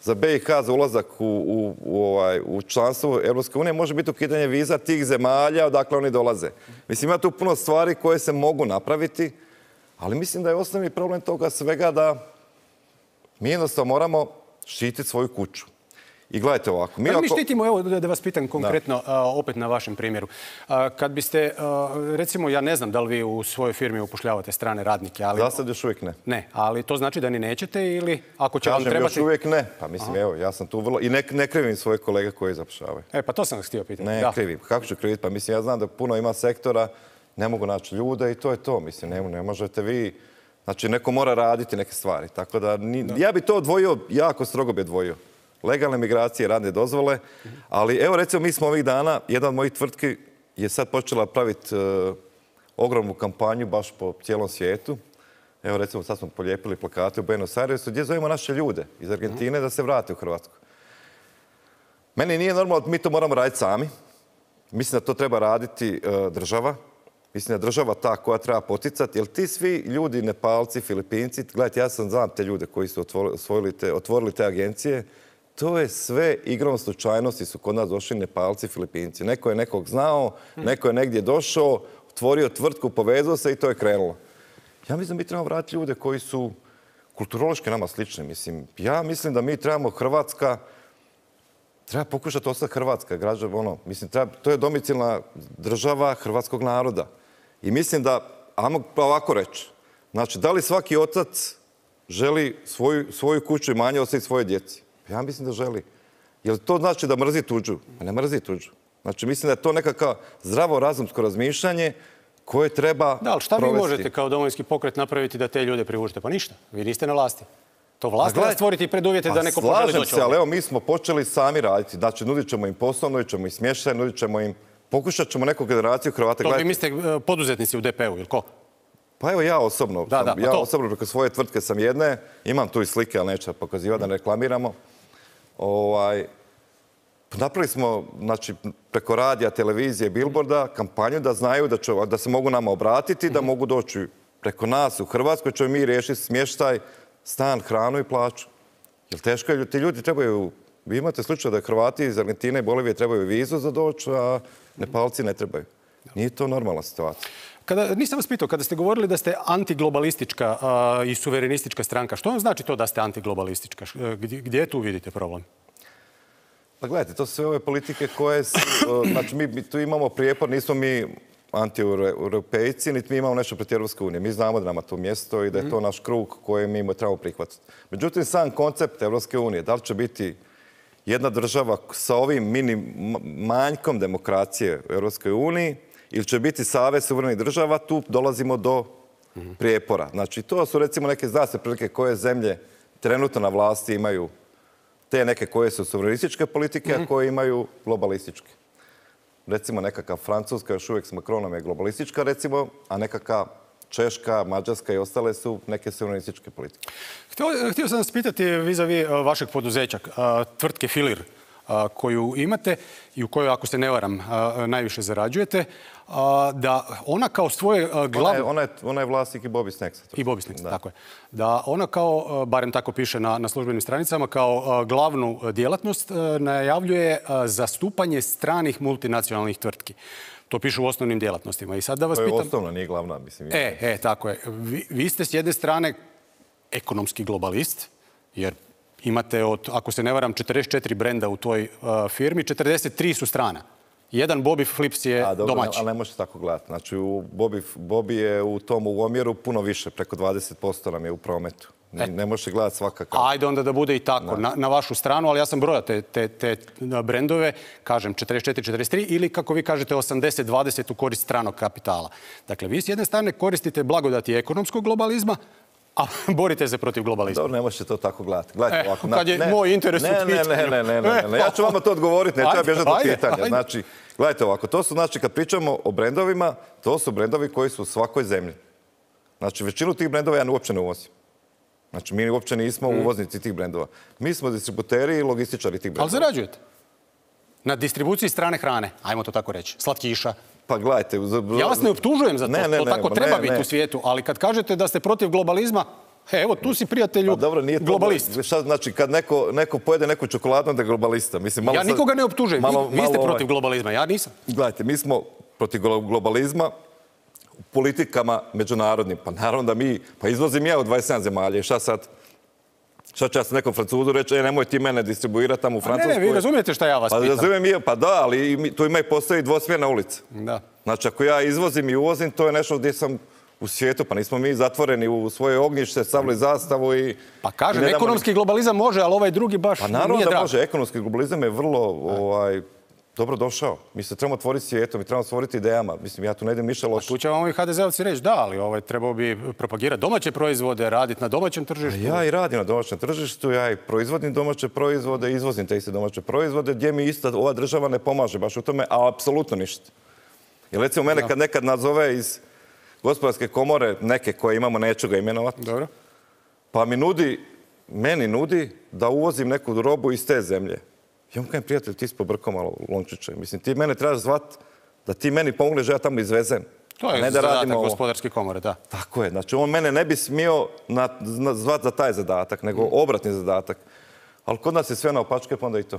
za B i H za ulazak u, u, u, ovaj, u članstvo Europske unije može biti ukidanje viza tih zemalja odakle oni dolaze. Mislim, ima tu puno stvari koje se mogu napraviti, ali mislim da je osnovni problem toga svega da mi jednostavno moramo štititi svoju kuću. I gledajte ovako. Mi, ako... mi štitimo, evo da vas pitam konkretno, a, opet na vašem primjeru. A, kad biste, a, recimo, ja ne znam da li vi u svojoj firmi upošljavate strane radnike, ali... Za sad još uvijek ne. Ne, ali to znači da ni nećete ili ako će vam trebati... Kažem, još uvijek ne. Pa mislim, Aha. evo, ja sam tu vrlo... I ne, ne krivim svoje kolege koji zapošljavaju. E, pa to sam vas htio pitati. Ne da. krivim. Kako ću kriviti? Pa mislim, ja znam da puno ima sektora, ne mogu naći ljude i to je to. Mislim, ne, ne možete vi... Znači, neko mora raditi neke stvari. Tako da, ni... da. Ja bi to odvojio, jako strogo bi odvojio. Legalne migracije, radne dozvole, ali evo recimo mi smo ovih dana, jedan od mojih tvrtki je sad počela praviti uh, ogromnu kampanju baš po cijelom svijetu. Evo recimo sad smo polijepili plakate u Buenos Airesu gdje zovemo naše ljude iz Argentine da se vrate u Hrvatsku. Meni nije normalno da mi to moramo raditi sami. Mislim da to treba raditi uh, država. Mislim da je država ta koja treba poticati, jer ti svi ljudi, Nepalci, Filipinci, gledajte, ja sam znam te ljude koji su otvorili te, otvorili te agencije, to je sve igrom slučajnosti su kod nas došli Nepalci, Filipinci. Neko je nekog znao, neko je negdje došao, otvorio tvrtku, povezao se i to je krenulo. Ja mislim da mi trebamo vratiti ljude koji su kulturološki nama slični. Mislim, ja mislim da mi trebamo Hrvatska, treba pokušati ostati Hrvatska, građana, ono, mislim, treba, to je domicilna država hrvatskog naroda. I mislim da, ajmo ovako reći, znači, da li svaki otac želi svoju, svoju kuću i manje ostaviti svoje djeci? Ja mislim da želi. Jel to znači da mrzi tuđu? Ne mrzi tuđu. Znači, mislim da je to nekakav zdravo razumsko razmišljanje koje treba Da, ali šta provesti. Vi možete kao Domovinski pokret napraviti da te ljude privučete? Pa ništa. Vi niste na vlasti. To vlast treba stvoriti preduvjete da neko poželi doći. Slažem se, ali evo mi smo počeli sami raditi. Znači, nudit ćemo im posao, nudit ćemo im smještaj, nudit ćemo im... Pokušat ćemo neku generaciju Hrvata. To vi mislite poduzetnici u D P U, ili ko? Pa evo ja osobno. Da, sam, da, pa ja to. osobno preko svoje tvrtke sam jedne. Imam tu i slike, ali neću pokazivati da ne reklamiramo. Ovaj, napravili smo, znači, preko radija, televizije, billboarda, kampanju da znaju da, će, da se mogu nama obratiti, da mogu doći preko nas u Hrvatskoj, ćemo mi riješiti smještaj, stan, hranu i plaću. Jer teško je, ti ljudi trebaju, vi imate slučaj da Hrvati iz Argentine i Bolivije trebaju vizu za doći, a Nepalci ne trebaju. Nije to normalna situacija. Kada, nisam vas pitao, kada ste govorili da ste antiglobalistička a, i suverenistička stranka, što vam znači to da ste antiglobalistička? Gdje, gdje tu vidite problem? Pa gledajte, to su sve ove politike koje su, znači mi tu imamo prijepor, nismo mi anti-europejci, niti mi imamo nešto protiv Europske unije. Mi znamo da nama to mjesto i da je to naš krug koji mi trebamo prihvatiti. Međutim, sam koncept Europske unije, da li će biti jedna država sa ovim mini manjkom demokracije u Europskoj uniji ili će biti savez suverenih država, tu dolazimo do prijepora. Znači, to su recimo neke, zna se prilike koje zemlje trenutno na vlasti imaju te neke koje su suverenističke politike, a koje imaju globalističke. Recimo nekakav Francuska još uvijek s Macronom je globalistička, recimo, a nekakav Češka, Mađarska i ostale su neke suverenističke politike. Htio, htio sam vas pitati vis-a-vis vašeg poduzeća, tvrtke Filir, koju imate i u kojoj, ako se ne varam, najviše zarađujete, da ona kao svoje glavno... Ona je, ona je, ona je vlasnik i Bobby Snacksa. I Bobby Snacksa, tako je. Da ona kao, barem tako piše na, na službenim stranicama, kao glavnu djelatnost najavljuje zastupanje stranih multinacionalnih tvrtki. To piše u osnovnim djelatnostima. I sad da vas to je pitam... osnovna, nije glavna, mislim. E, e, tako je. Vi, vi ste s jedne strane ekonomski globalist, jer imate od, ako se ne varam, četrdeset četiri brenda u toj uh, firmi, četrdeset tri su strana. Jedan Bobby Flips je A, dobro, domaći. ali ne možete tako gledati. Znači, u Bobby, Bobby je u tom u omjeru puno više, preko dvadeset posto nam je u prometu. Ne, ne možete gledati svakako. Ajde onda da bude i tako, na, na vašu stranu, ali ja sam brojao te, te, te brendove, kažem četrdeset četiri četrdeset tri ili kako vi kažete osamdeset dvadeset u korist stranog kapitala. Dakle, vi s jedne strane koristite blagodati ekonomskog globalizma, a borite se protiv globalizma. Dobro, ne možete to tako gledati. Gledajte E, ovako. kad je ne, moj interes u ne, ne, pitanju. ne, ne, ne, ne, ne. Ja ću vama to odgovoriti, ne treba bježati od pitanja. ajde. Znači, gledajte ovako, to su, znači, kad pričamo o brendovima, to su brendovi koji su u svakoj zemlji. Znači, većinu tih brendova ja uopće ne uvozim. Znači, mi uopće nismo uvoznici tih brendova. Mi smo distributeri i logističari tih brendova. Ali zarađujete? Na distribuciji strane hrane, ajmo to tako reći, slatkiša. Pa gledajte... Ja vas ne optužujem za to, ne, ne, to tako ne, treba ne, biti ne. u svijetu, ali kad kažete da ste protiv globalizma, he, evo tu si prijatelju Pa dobro, nije to, globalist. Šta znači, kad neko, neko pojede neku čokoladu, onda je globalista. Mislim, malo Ja nikoga sad, ne optužujem, malo, vi, vi ste malo, protiv globalizma, ja nisam. Gledajte, mi smo protiv globalizma u politikama međunarodnim. Pa naravno da mi, pa izvozim ja u dvadeset sedam zemalja i šta sad? Šta će ja sam nekom Francuzu reći, e, nemoj ti mene distribuirati tamo u Francuskoj. Ne, ne, vi razumijete šta ja vas pa, pitam. Razumijem je, pa da, ali mi, tu ima i postoji dvosmjerna ulica. Da. Znači, ako ja izvozim i uvozim, to je nešto gdje sam u svijetu, pa nismo mi zatvoreni u svoje ognjište, stavili zastavu i... Pa kažem, i ne damo ekonomski ni... globalizam može, ali ovaj drugi baš Pa nije naravno drag. da može, ekonomski globalizam je vrlo ovaj, dobro došao. Mi se trebamo otvoriti svijetom, mi trebamo stvoriti idejama. Mislim, ja tu ne idem ništa loše. Tu će vam ovi ha de zeovci reći da, ali ovaj, trebao bi propagirati domaće proizvode, raditi na domaćem tržištu. A ja i radim na domaćem tržištu, ja i proizvodim domaće proizvode, izvozim te iste domaće proizvode, gdje mi ista ova država ne pomaže baš u tome, a apsolutno ništa. Jer recimo mene kad nekad nazove iz gospodarske komore, neke koje imamo, neću ga imenovati, Dobro. pa mi nudi, meni nudi da uvozim neku robu iz te zemlje. Ja mu kažem, prijatelj, ti si pobrkao malo lončiće. Mislim, ti mene trebaš zvat da ti meni pomogneš da ja tamo izvezem. To je ne da zadatak radimo ovo. gospodarske komore, da. Tako je. Znači, on mene ne bi smio na, na, zvat za taj zadatak, nego obratni zadatak. Ali kod nas je sve na opačke, pa onda i to.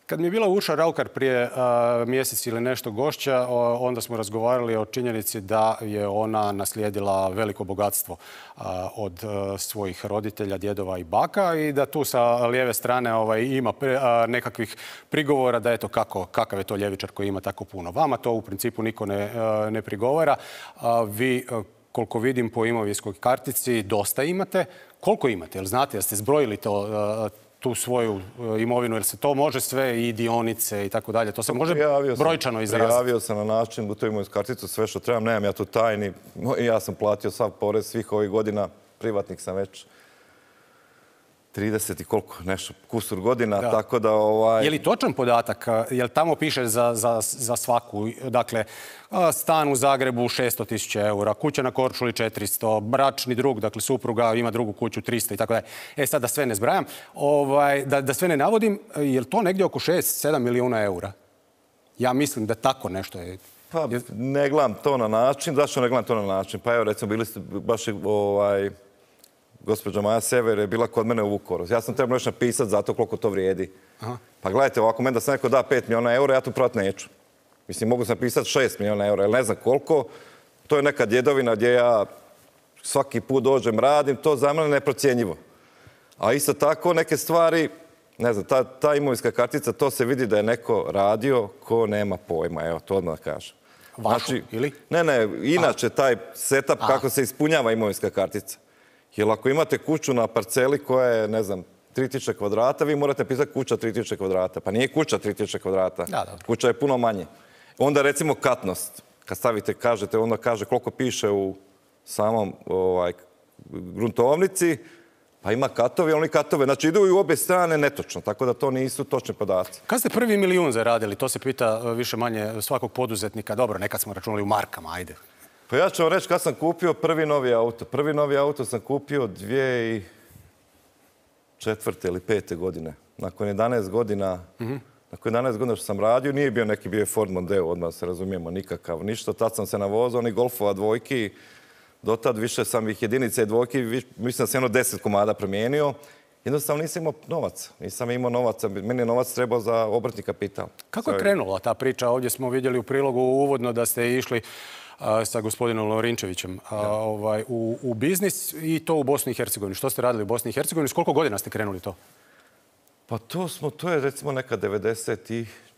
Kad mi je bila Urša Raukar prije uh, mjesec ili nešto gošća, o, onda smo razgovarali o činjenici da je ona naslijedila veliko bogatstvo uh, od uh, svojih roditelja, djedova i baka i da tu sa lijeve strane ovaj, ima pre, uh, nekakvih prigovora da eto kako, kakav je to ljevičar koji ima tako puno. Vama to u principu niko ne, uh, ne prigovara. Uh, vi, uh, koliko vidim po imovinskoj kartici, dosta imate. Koliko imate? Jel znate, jel ste zbrojili to uh, tu svoju imovinu, jer se to može sve i dionice i tako dalje. To se može Prijavio sam, brojčano izraziti. Prijavio sam na način u toj imovinsku karticu sve što trebam. Nemam ja tu tajni. Ja sam platio sav porez svih ovih godina. Privatnik sam već trideset i koliko, nešto, kusur godina. Da. Tako da... Ovaj... Je li točan podatak? Je li tamo piše za, za, za svaku? Dakle, stan u Zagrebu šesto tisuća eura, kuća na Korčuli četiristo, bračni drug, dakle supruga ima drugu kuću tristo i tako dalje. E sad da sve ne zbrajam, ovaj, da, da sve ne navodim, je li to negdje oko šest sedam milijuna eura? Ja mislim da tako nešto je. Pa ne gledam to na način. Zašto ne gledam to na način? Pa evo recimo bili ste baš ovaj... Gospođa Maja Sever je bila kod mene u Vukovaru. Ja sam trebao još napisati za to koliko to vrijedi. Aha. Pa gledajte, ovako meni da sam neko da pet milijuna eura, ja tu prodati neću. Mislim, mogu sam napisati šest milijuna eura, ali ne znam koliko. To je neka djedovina gdje ja svaki put dođem, radim, to za mene neprocjenjivo. A isto tako neke stvari, ne znam, ta, ta imovinska kartica, to se vidi da je neko radio ko nema pojma, evo, to odmah da kažem. Vašu, znači, ili? Ne, ne, inače taj setup A. kako se ispunjava imovinska kartica. Jer ako imate kuću na parceli koja je, ne znam, tri tisuće kvadrata, vi morate pisati kuća tri tisuće kvadrata. Pa nije kuća tri tisuće kvadrata. Da, da. Kuća je puno manje. Onda recimo katnost. Kad stavite, kažete, onda kaže koliko piše u samom ovaj, gruntovnici, pa ima katovi, oni katove. Znači idu i u obje strane netočno, tako da to nisu točni podaci. Kad ste prvi milijun zaradili? To se pita više manje svakog poduzetnika. Dobro, nekad smo računali u markama, ajde. Pa ja ću vam reći kad sam kupio prvi novi auto. Prvi novi auto sam kupio dvije tisuće četvrte ili pete godine. Nakon jedanaest godina, mm-hmm. nakon jedanaest godina što sam radio, nije bio neki, bio je Ford Mondeo, odmah se razumijemo, nikakav, ništa. Tad sam se navozao, oni Golfova dvojki, do tad više sam ih jedinice i dvojki, mislim da sam jedno deset komada promijenio. Jednostavno nisam imao novaca. Nisam imao novaca. Meni je novac trebao za obrtni kapital. Kako je krenula ta priča? Ovdje smo vidjeli u prilogu uvodno da ste išli sa gospodinom Lovrinčevićem ovaj, u, u biznis i to u Bosni i Hercegovini. Što ste radili u Bosni i Hercegovini? S koliko godina ste krenuli to? Pa to smo, to je recimo neka devedeset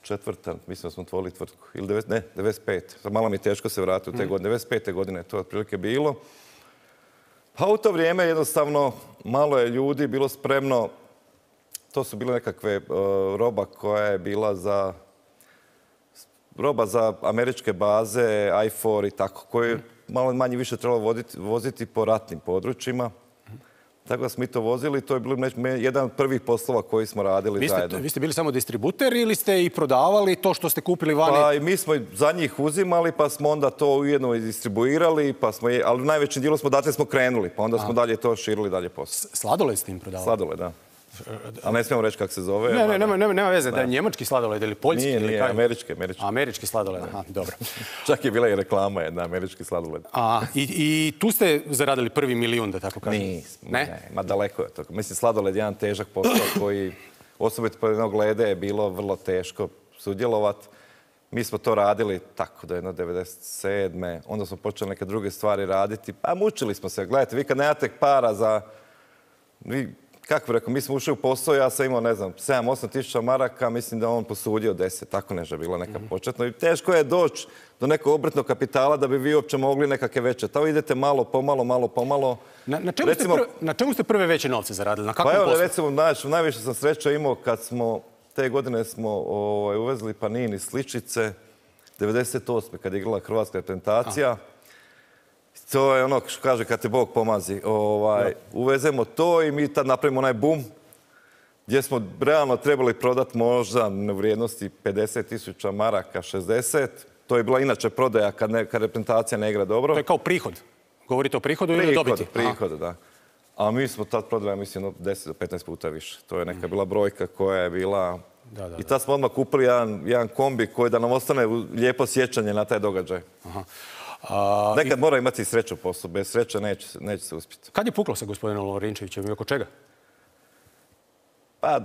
četvrta, mislim da smo otvorili tvrtku. Ili devet, ne, devedeset pet. Malo mi je teško se vratiti u te godine. devedeset pete godine je to otprilike bilo. Pa u to vrijeme jednostavno malo je ljudi bilo spremno. To su bile nekakve uh, roba koja je bila za roba za američke baze, I four i tako, koje malo manje više trebalo voditi, voziti po ratnim područjima. Tako da smo mi to vozili, to je bilo jedan od prvih poslova koji smo radili vi ste, zajedno. Vi ste bili samo distributer ili ste i prodavali to što ste kupili vani? Pa i mi smo za njih uzimali, pa smo onda to ujedno i distribuirali, pa smo, ali u najvećem dijelu smo datle smo krenuli, pa onda smo A. dalje to širili dalje posao. Sladoled ste im prodavali? Sladoled, da. Ali ne smijemo reći kako se zove. Ne, ne, nema, nema, nema veze, da je njemački sladoled ili poljski? Nije, ili nije, kaj? američki, američki. Američki sladoled, aha, dobro. Čak je bila i reklama jedna, američki sladoled. A, i, i tu ste zaradili prvi milijun, da tako kažem? Nismo, ne? ne, ma daleko je to. Mislim, sladoled je jedan težak posao koji, osobito po jednog glede, je bilo vrlo teško sudjelovati. Mi smo to radili tako da je jedno devedeset sedme. Onda smo počeli neke druge stvari raditi. Pa mučili smo se. Gledajte, vi kad nemate para za... Vi, kako bih rekao, mi smo ušli u posao, ja sam imao, ne znam, sedam osam tisuća maraka, mislim da on posudio deset, tako nešto je bilo neka početno. I teško je doći do nekog obrtnog kapitala da bi vi uopće mogli nekakve veće. Tamo idete malo, pomalo, malo, pomalo. Na, na, čemu, recimo, ste prve, na čemu ste prve veće novce zaradili? Na kakvom pa evo, poslu? recimo, naj, najviše sam sreća imao kad smo, te godine smo ovaj, uvezli Panini sličice, devedeset osme kad je igrala hrvatska reprezentacija. A. To je ono što kaže kad te Bog pomazi. Ovaj, uvezemo to i mi tad napravimo onaj bum gdje smo realno trebali prodati možda u vrijednosti pedeset tisuća maraka, šezdeset. To je bila inače prodaja kad, ne, kad reprezentacija ne igra dobro. To je kao prihod. Govorite o prihodu ili prihod, dobiti? Prihod, Aha. da. A mi smo tad prodali, mislim, deset do petnaest puta više. To je neka bila brojka koja je bila... Da, da, I tad smo odmah kupili jedan, jedan kombi koji da nam ostane lijepo sjećanje na taj događaj. Aha. A, Nekad i... mora imati sreću u poslu, bez sreće neće, neće se uspjeti. Kad je puklo sa gospodinom Lovrinčevićem i oko čega? Pa,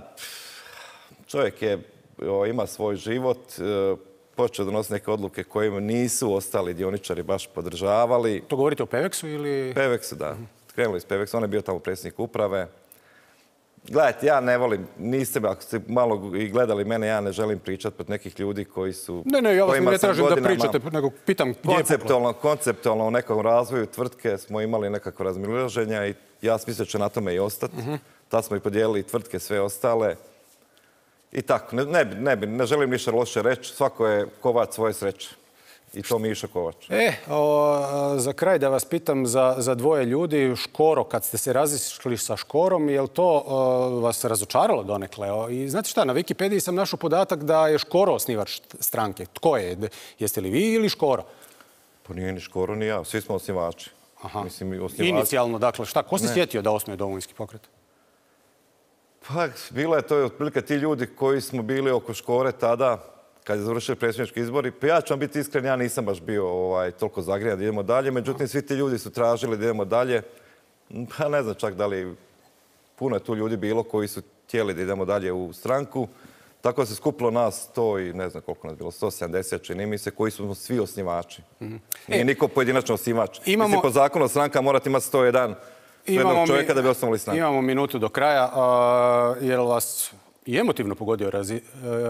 čovjek je, o, ima svoj život, e, počeo donositi neke odluke koje nisu ostali dioničari baš podržavali. To govorite o Peveksu ili? Peveksu, da. Uh-huh. Krenuli s Peveksu, on je bio tamo predsjednik uprave. Gledajte, ja ne volim, niste, ako ste malo i gledali mene, ja ne želim pričati pod nekih ljudi koji su... Ne, ne, ja vas ne tražim da pričate, nego pitam gdje je puklo. Konceptualno u nekom razvoju tvrtke smo imali nekako razmililaženja i ja sam mislio će na tome i ostati. Uh-huh. Tad smo i podijelili tvrtke, sve ostale. I tako, ne, ne, ne, ne želim ništa loše reći, svako je kovač svoje sreće. I to Mišo Kovač. E, o, za kraj da vas pitam za, za dvoje ljudi. Škoro, kad ste se razišli sa Škorom, je li to o, vas razočaralo donekle? O, I znate šta, na Wikipediji sam našao podatak da je Škoro osnivač stranke. Tko je? Jeste li vi ili Škoro? Pa nije ni Škoro ni ja, svi smo osnivači. Aha. Mislim, osnivači. Inicijalno, dakle, šta? Ko se sjetio da osnuje Domovinski pokret? Pa, bilo je to otprilike ti ljudi koji smo bili oko Škore tada, kad je završili predsjednički izbori. Pa ja ću vam biti iskren, ja nisam baš bio ovaj, toliko zagrijan da idemo dalje. Međutim, svi ti ljudi su tražili da idemo dalje. Pa ne znam čak da li puno je tu ljudi bilo koji su htjeli da idemo dalje u stranku. Tako se skupilo nas sto i ne znam koliko nas bilo, sto sedamdeset čini mi se, koji su svi osnivači. Mm-hmm. Nije e, niko pojedinačno osnivač. Imamo... Mislim, po zakonu stranka morate imati sto jedan jednog čovjeka da bi osnovali stranku. Imamo minutu do kraja. A, je li vas i emotivno pogodio razi,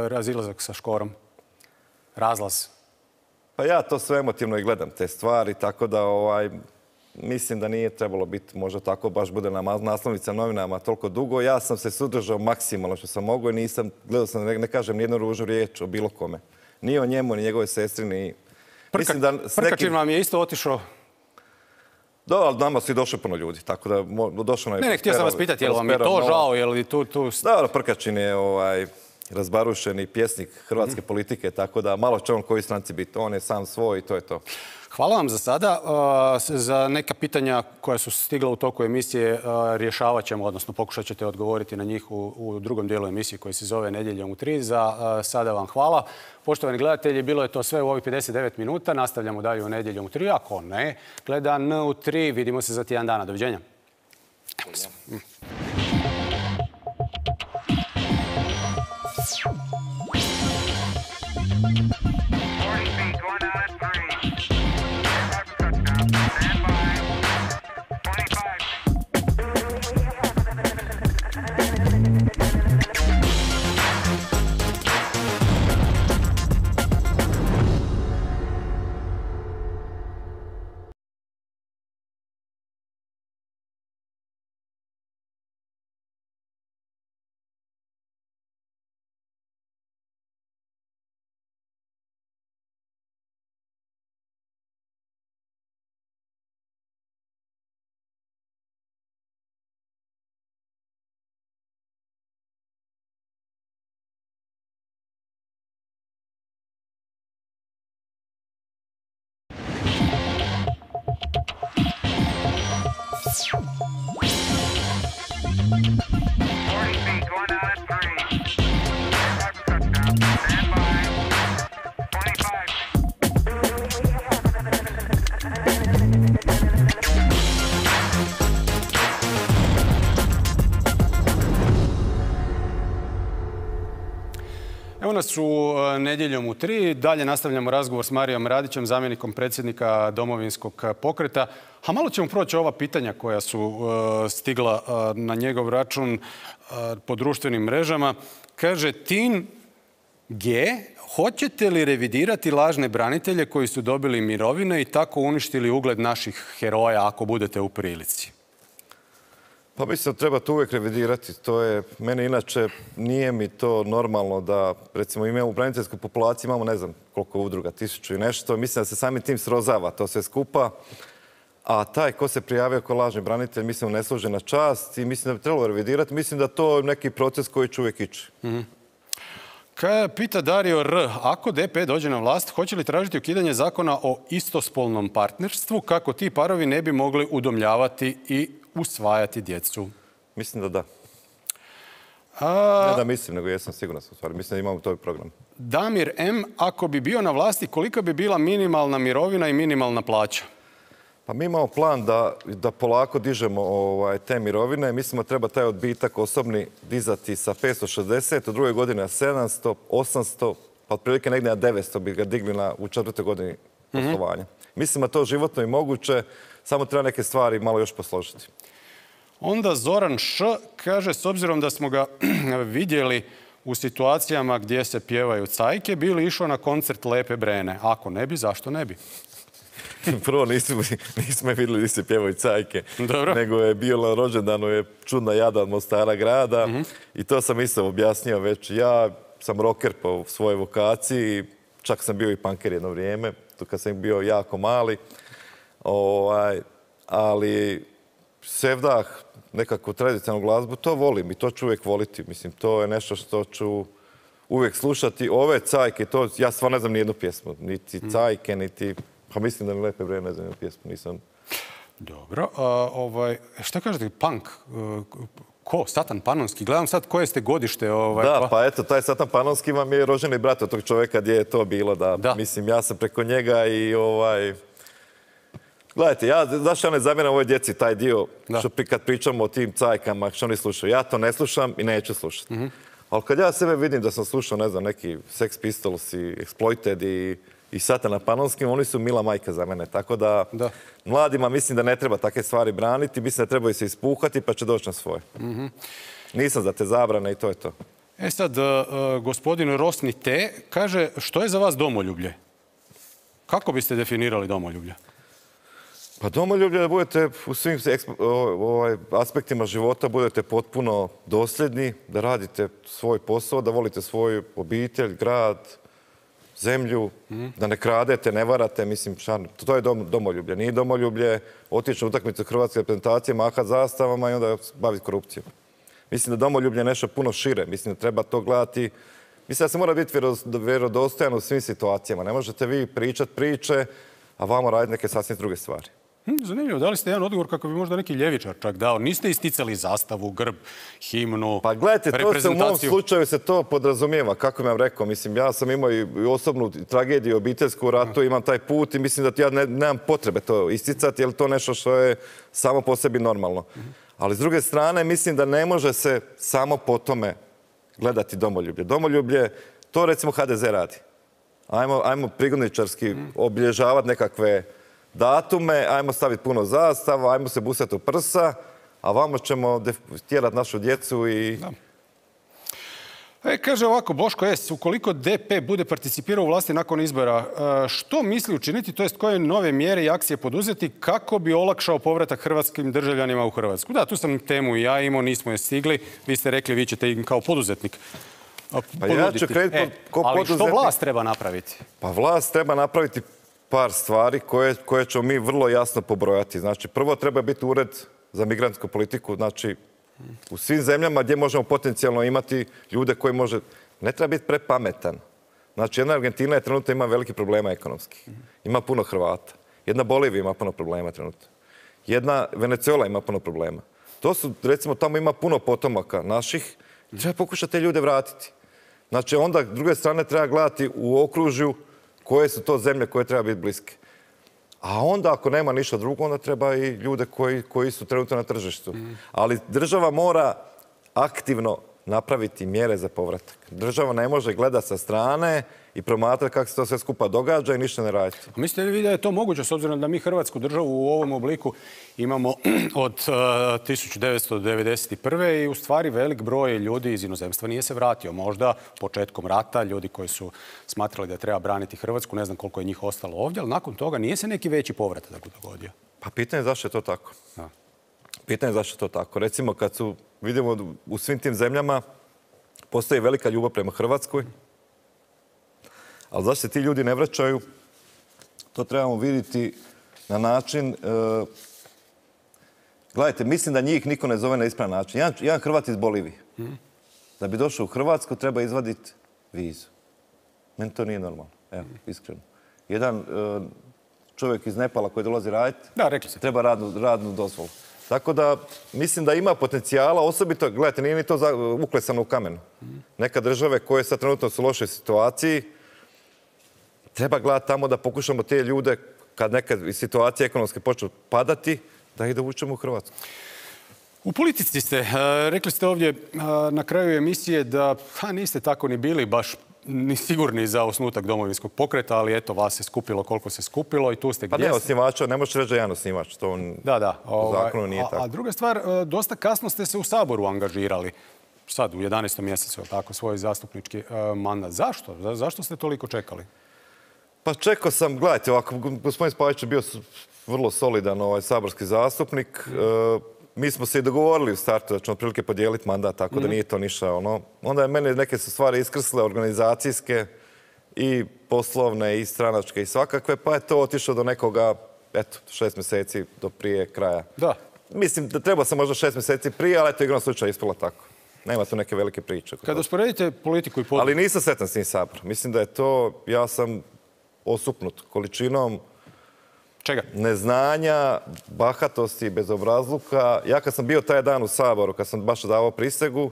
razilazak sa Škorom? Razlaz? Pa ja to sve emotivno i gledam, te stvari, tako da ovaj, mislim da nije trebalo biti možda tako, baš bude na naslovnica novinama toliko dugo. Ja sam se sudržao maksimalno što sam mogao i nisam, gledao sam, ne, ne kažem nijednu ružnu riječ o bilo kome. Ni o njemu, ni njegove sestri, ni... Prka, da Prkačin nekim... vam je isto otišao? Da, ali nama su i došli puno ljudi, tako da došlo... Ne, ne, htio sam vas pitati, je li vam je to žao, je li tu... tu... Da, Prkačin je ovaj, razbarušeni pjesnik hrvatske mm. politike, tako da malo će on koji stranci biti. On je sam svoj i to je to. Hvala vam za sada. Za neka pitanja koja su stigla u toku emisije rješavat ćemo, odnosno pokušat ćete odgovoriti na njih u, u drugom dijelu emisije koji se zove Nedjeljom u tri. Za sada vam hvala. Poštovani gledatelji, bilo je to sve u ovih pedeset devet minuta. Nastavljamo dalje u Nedjeljom u tri. Ako ne, gleda N u tri. Vidimo se za tjedan dana. Doviđenja. Evo se. Evo nas u Nedjeljom u tri. Dalje nastavljamo razgovor s Marijom Radićem, zamjenikom predsjednika Domovinskog pokreta. A malo ćemo proći ova pitanja koja su uh, stigla uh, na njegov račun uh, po društvenim mrežama. Kaže Tin G, hoćete li revidirati lažne branitelje koji su dobili mirovine i tako uništili ugled naših heroja ako budete u prilici? Pa mislim da treba to uvijek revidirati. To je, meni inače nije mi to normalno da, recimo, imamo u braniteljskoj populaciji, imamo ne znam koliko udruga, tisuću i nešto. Mislim da se samim tim srozava to sve skupa. A taj ko se prijavio kao lažni branitelj, mislim, ne služi na čast i mislim da bi trebalo revidirati. Mislim da to je neki proces koji će uvijek ići. Mm-hmm. Kaj pita Dario R. Ako D P dođe na vlast, hoće li tražiti ukidanje zakona o istospolnom partnerstvu kako ti parovi ne bi mogli udomljavati i usvajati djecu? Mislim da da. A... Ne da mislim, nego jesam siguran sam u stvari. Mislim da imamo to program. Damir M. Ako bi bio na vlasti, kolika bi bila minimalna mirovina i minimalna plaća? Pa mi imamo plan da, da polako dižemo ovaj, te mirovine. Mislimo da treba taj odbitak osobni dizati sa petsto šezdeset, u druge godine na sedamsto, osamsto, pa otprilike negdje na devetsto bi ga digli na, u četvrtoj godini poslovanja. Mm-hmm. Mislim da to životno i moguće, samo treba neke stvari malo još posložiti. Onda Zoran Š. kaže, s obzirom da smo ga vidjeli u situacijama gdje se pjevaju cajke, bi li išao na koncert Lepe Brene? Ako ne bi, zašto ne bi? Prvo nismo, nismo vidjeli gdje se pjevaju cajke, Dobro. nego je bio na rođendanu je čudna jada od Mostara grada. Mm-hmm. I to sam isto objasnio već. Ja sam rocker po svojoj vokaciji, čak sam bio i punker jedno vrijeme, to kad sam bio jako mali. Ovaj, ali sevdah, nekakvu tradicionalnu glazbu, to volim i to ću uvijek voliti. Mislim, to je nešto što ću uvijek slušati. Ove cajke, to, ja stvarno ne znam nijednu pjesmu, niti cajke, niti... Pa mislim da mi Lepe Brene ne znam jednu pjesmu, nisam... Dobro, a, ovaj, šta kažete, punk? Ko? Satan Panonski? Gledam sad koje ste godište. Ovaj, da, pa... pa eto, taj Satan Panonski vam je rođeni brat od tog čovjeka gdje je to bilo. Da, da. Mislim, ja sam preko njega i ovaj... Gledajte, ja, zašto ja ne zamjeram ovoj djeci taj dio, što pri, kad pričamo o tim cajkama, što oni slušaju. Ja to ne slušam i neću slušati. Mm-hmm. Ali kad ja sebe vidim da sam slušao, ne znam, neki Sex Pistols i Exploited i, i Satana Panonskim, oni su mila majka za mene. Tako da, da mladima mislim da ne treba takve stvari braniti, mislim da trebaju se ispuhati pa će doći na svoje. Mm-hmm. Nisam za te zabrane i to je to. E sad, uh, gospodin Rosni T. kaže, što je za vas domoljublje? Kako biste definirali domoljublje? Pa domoljublje da budete u svim ovaj, aspektima života, budete potpuno dosljedni, da radite svoj posao, da volite svoju obitelj, grad, zemlju, mm. da ne kradete, ne varate, mislim, šarno. To je dom, domoljublje. Nije domoljublje otići na utakmicu hrvatske reprezentacije, mahat zastavama i onda baviti korupcijom. Mislim da domoljublje je nešto puno šire. Mislim da treba to gledati. Mislim da se mora biti vjerodostojan u svim situacijama. Ne možete vi pričati priče, a vamo raditi neke sasvim druge stvari. Zanimljivo, dali ste jedan odgovor kako bi možda neki ljevičar čak dao. Niste isticali zastavu, grb, himnu, pa gledajte, to se u mom slučaju se to podrazumijeva, kako vam rekao. Mislim, ja sam imao i osobnu tragediju, obiteljsku ratu, imam taj put i mislim da ja ne, nemam potrebe to isticati, jer to nešto što je samo po sebi normalno. Ali s druge strane, mislim da ne može se samo po tome gledati domoljublje. Domoljublje, to recimo H D Z radi. Ajmo, ajmo prigodničarski obilježavati nekakve datume, ajmo staviti puno zastava, ajmo se busati u prsa, a vamo ćemo tjerati našu djecu i... Da. E, kaže ovako, Boško S. Ukoliko D P bude participirao u vlasti nakon izbora, što misli učiniti, to jest koje nove mjere i akcije poduzeti kako bi olakšao povratak hrvatskim državljanima u Hrvatsku? Da, tu sam temu i ja imao, nismo je stigli. Vi ste rekli, vi ćete im kao poduzetnik pa ja ću krenuti e, ko ali poduzetnik. Što vlast treba napraviti? Pa vlast treba napraviti par stvari koje, koje ćemo mi vrlo jasno pobrojati. Znači, prvo treba biti ured za migrantsku politiku. Znači, u svim zemljama gdje možemo potencijalno imati ljude koji može... Ne treba biti prepametan. Znači, jedna Argentina je trenutno ima veliki problema ekonomskih. Ima puno Hrvata. Jedna Bolivija ima puno problema trenutno. Jedna Venezuela ima puno problema. To su, recimo, tamo ima puno potomaka naših. Treba pokušati te ljude vratiti. Znači, onda, s druge strane, treba gledati u okružju koje su to zemlje koje treba biti bliske. A onda ako nema ništa drugo, onda treba i ljude koji, koji su trenutno na tržištu. Mm. Ali država mora aktivno napraviti mjere za povratak. Država ne može gledati sa strane i promatrati kako se to sve skupa događa i ništa ne raditi. A mislite li vi da je to moguće, s obzirom da mi Hrvatsku državu u ovom obliku imamo od uh, tisuću devetsto devedeset prve i u stvari velik broj ljudi iz inozemstva nije se vratio. Možda početkom rata, ljudi koji su smatrali da treba braniti Hrvatsku, ne znam koliko je njih ostalo ovdje, ali nakon toga nije se neki veći povratak dogodio. Pa pitanje je zašto je to tako. A. Pitanje je zašto je to tako. Recimo kad su, vidimo u svim tim zemljama postoji velika ljubav prema Hrvatskoj, ali zašto se ti ljudi ne vraćaju, to trebamo vidjeti na način... Uh, gledajte, mislim da njih niko ne zove na ispravan način. Jedan, jedan Hrvat iz Bolivije. Mm. Da bi došao u Hrvatsku treba izvaditi vizu. Meni to nije normalno. Evo, iskreno. Jedan uh, čovjek iz Nepala koji dolazi raditi, da, rekli se. Treba radnu, radnu dozvolu. Tako da mislim da ima potencijala, osobito, gledajte, nije ni to za, uklesano u kamenu. Mm. Neka države koje sad trenutno su u lošoj situaciji, treba gledati tamo da pokušamo te ljude, kad neka situacija ekonomske počne padati, da ih dovučemo u Hrvatsku. U politici ste, rekli ste ovdje na kraju emisije da ha, niste tako ni bili baš ni sigurni za osnutak Domovinskog pokreta, ali eto, vas se skupilo koliko se skupilo i tu ste gdje. Pa ne, osnivača, ne možeš reći da je jedan osnivač, to on da, da, u zakonu nije tako. A, a druga stvar, dosta kasno ste se u Saboru angažirali. Sad, u jedanaestom mjesecu, tako, svoj zastupnički uh, mandat. Zašto? Za, zašto ste toliko čekali? Pa čekao sam, gledajte, ovako, gospodin Spajić je bio vrlo solidan ovaj saborski zastupnik. Mm. Uh, mi smo se i dogovorili u startu da ćemo otprilike podijeliti mandat, tako mm. da nije to ništa. Ono. Onda je mene neke su stvari iskrsle, organizacijske i poslovne i stranačke i svakakve, pa je to otišlo do nekoga, eto, šest mjeseci do prije kraja. Da. Mislim da treba sam možda šest mjeseci prije, ali eto, igrom slučaj ispala tako. Nema tu neke velike priče. Kada usporedite politiku i politiku... Ali nisam sretan s tim Saborom. Mislim da je to, ja sam osupnut količinom čega? Neznanja, bahatosti, bezobrazluka. Ja kad sam bio taj dan u Saboru, kad sam baš davao prisegu,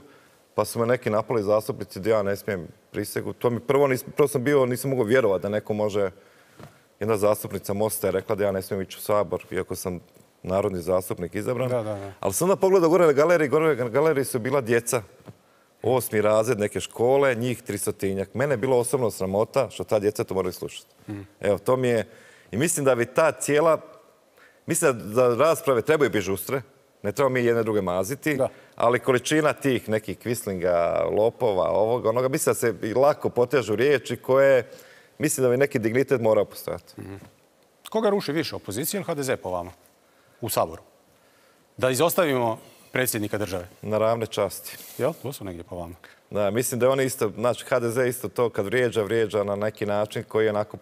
pa su me neki napali zastupnici da ja ne smijem prisegu. To mi prvo, nis, prvo sam bio, nisam mogao vjerovati da neko može... Jedna zastupnica Mosta je rekla da ja ne smijem ići u Sabor, iako sam narodni zastupnik izabran. Da, da, da. Ali sam onda pogledao gore na galeriji, gore na galeriji su bila djeca. Osmi razred neke škole, njih tristotinjak. Mene je bilo osobno sramota što ta djeca to moraju slušati. Mm. Evo, to mi je... I mislim da bi ta cijela... Mislim da rasprave trebaju biti žustre. Ne treba mi jedne druge maziti. Da. Ali količina tih nekih kvislinga, lopova, ovoga, onoga, mislim da se i lako potežu riječi koje... Mislim da bi neki dignitet morao postojati. Mm. Koga ruši više, opozicija ili ha de ze po vama? U Saboru? Da izostavimo predsjednika države? Na ravne časti. Jel? To su negdje po vama. Da, mislim da je on isto, znači ha de ze isto to kad vrijeđa, vrijeđa na neki način koji je onako,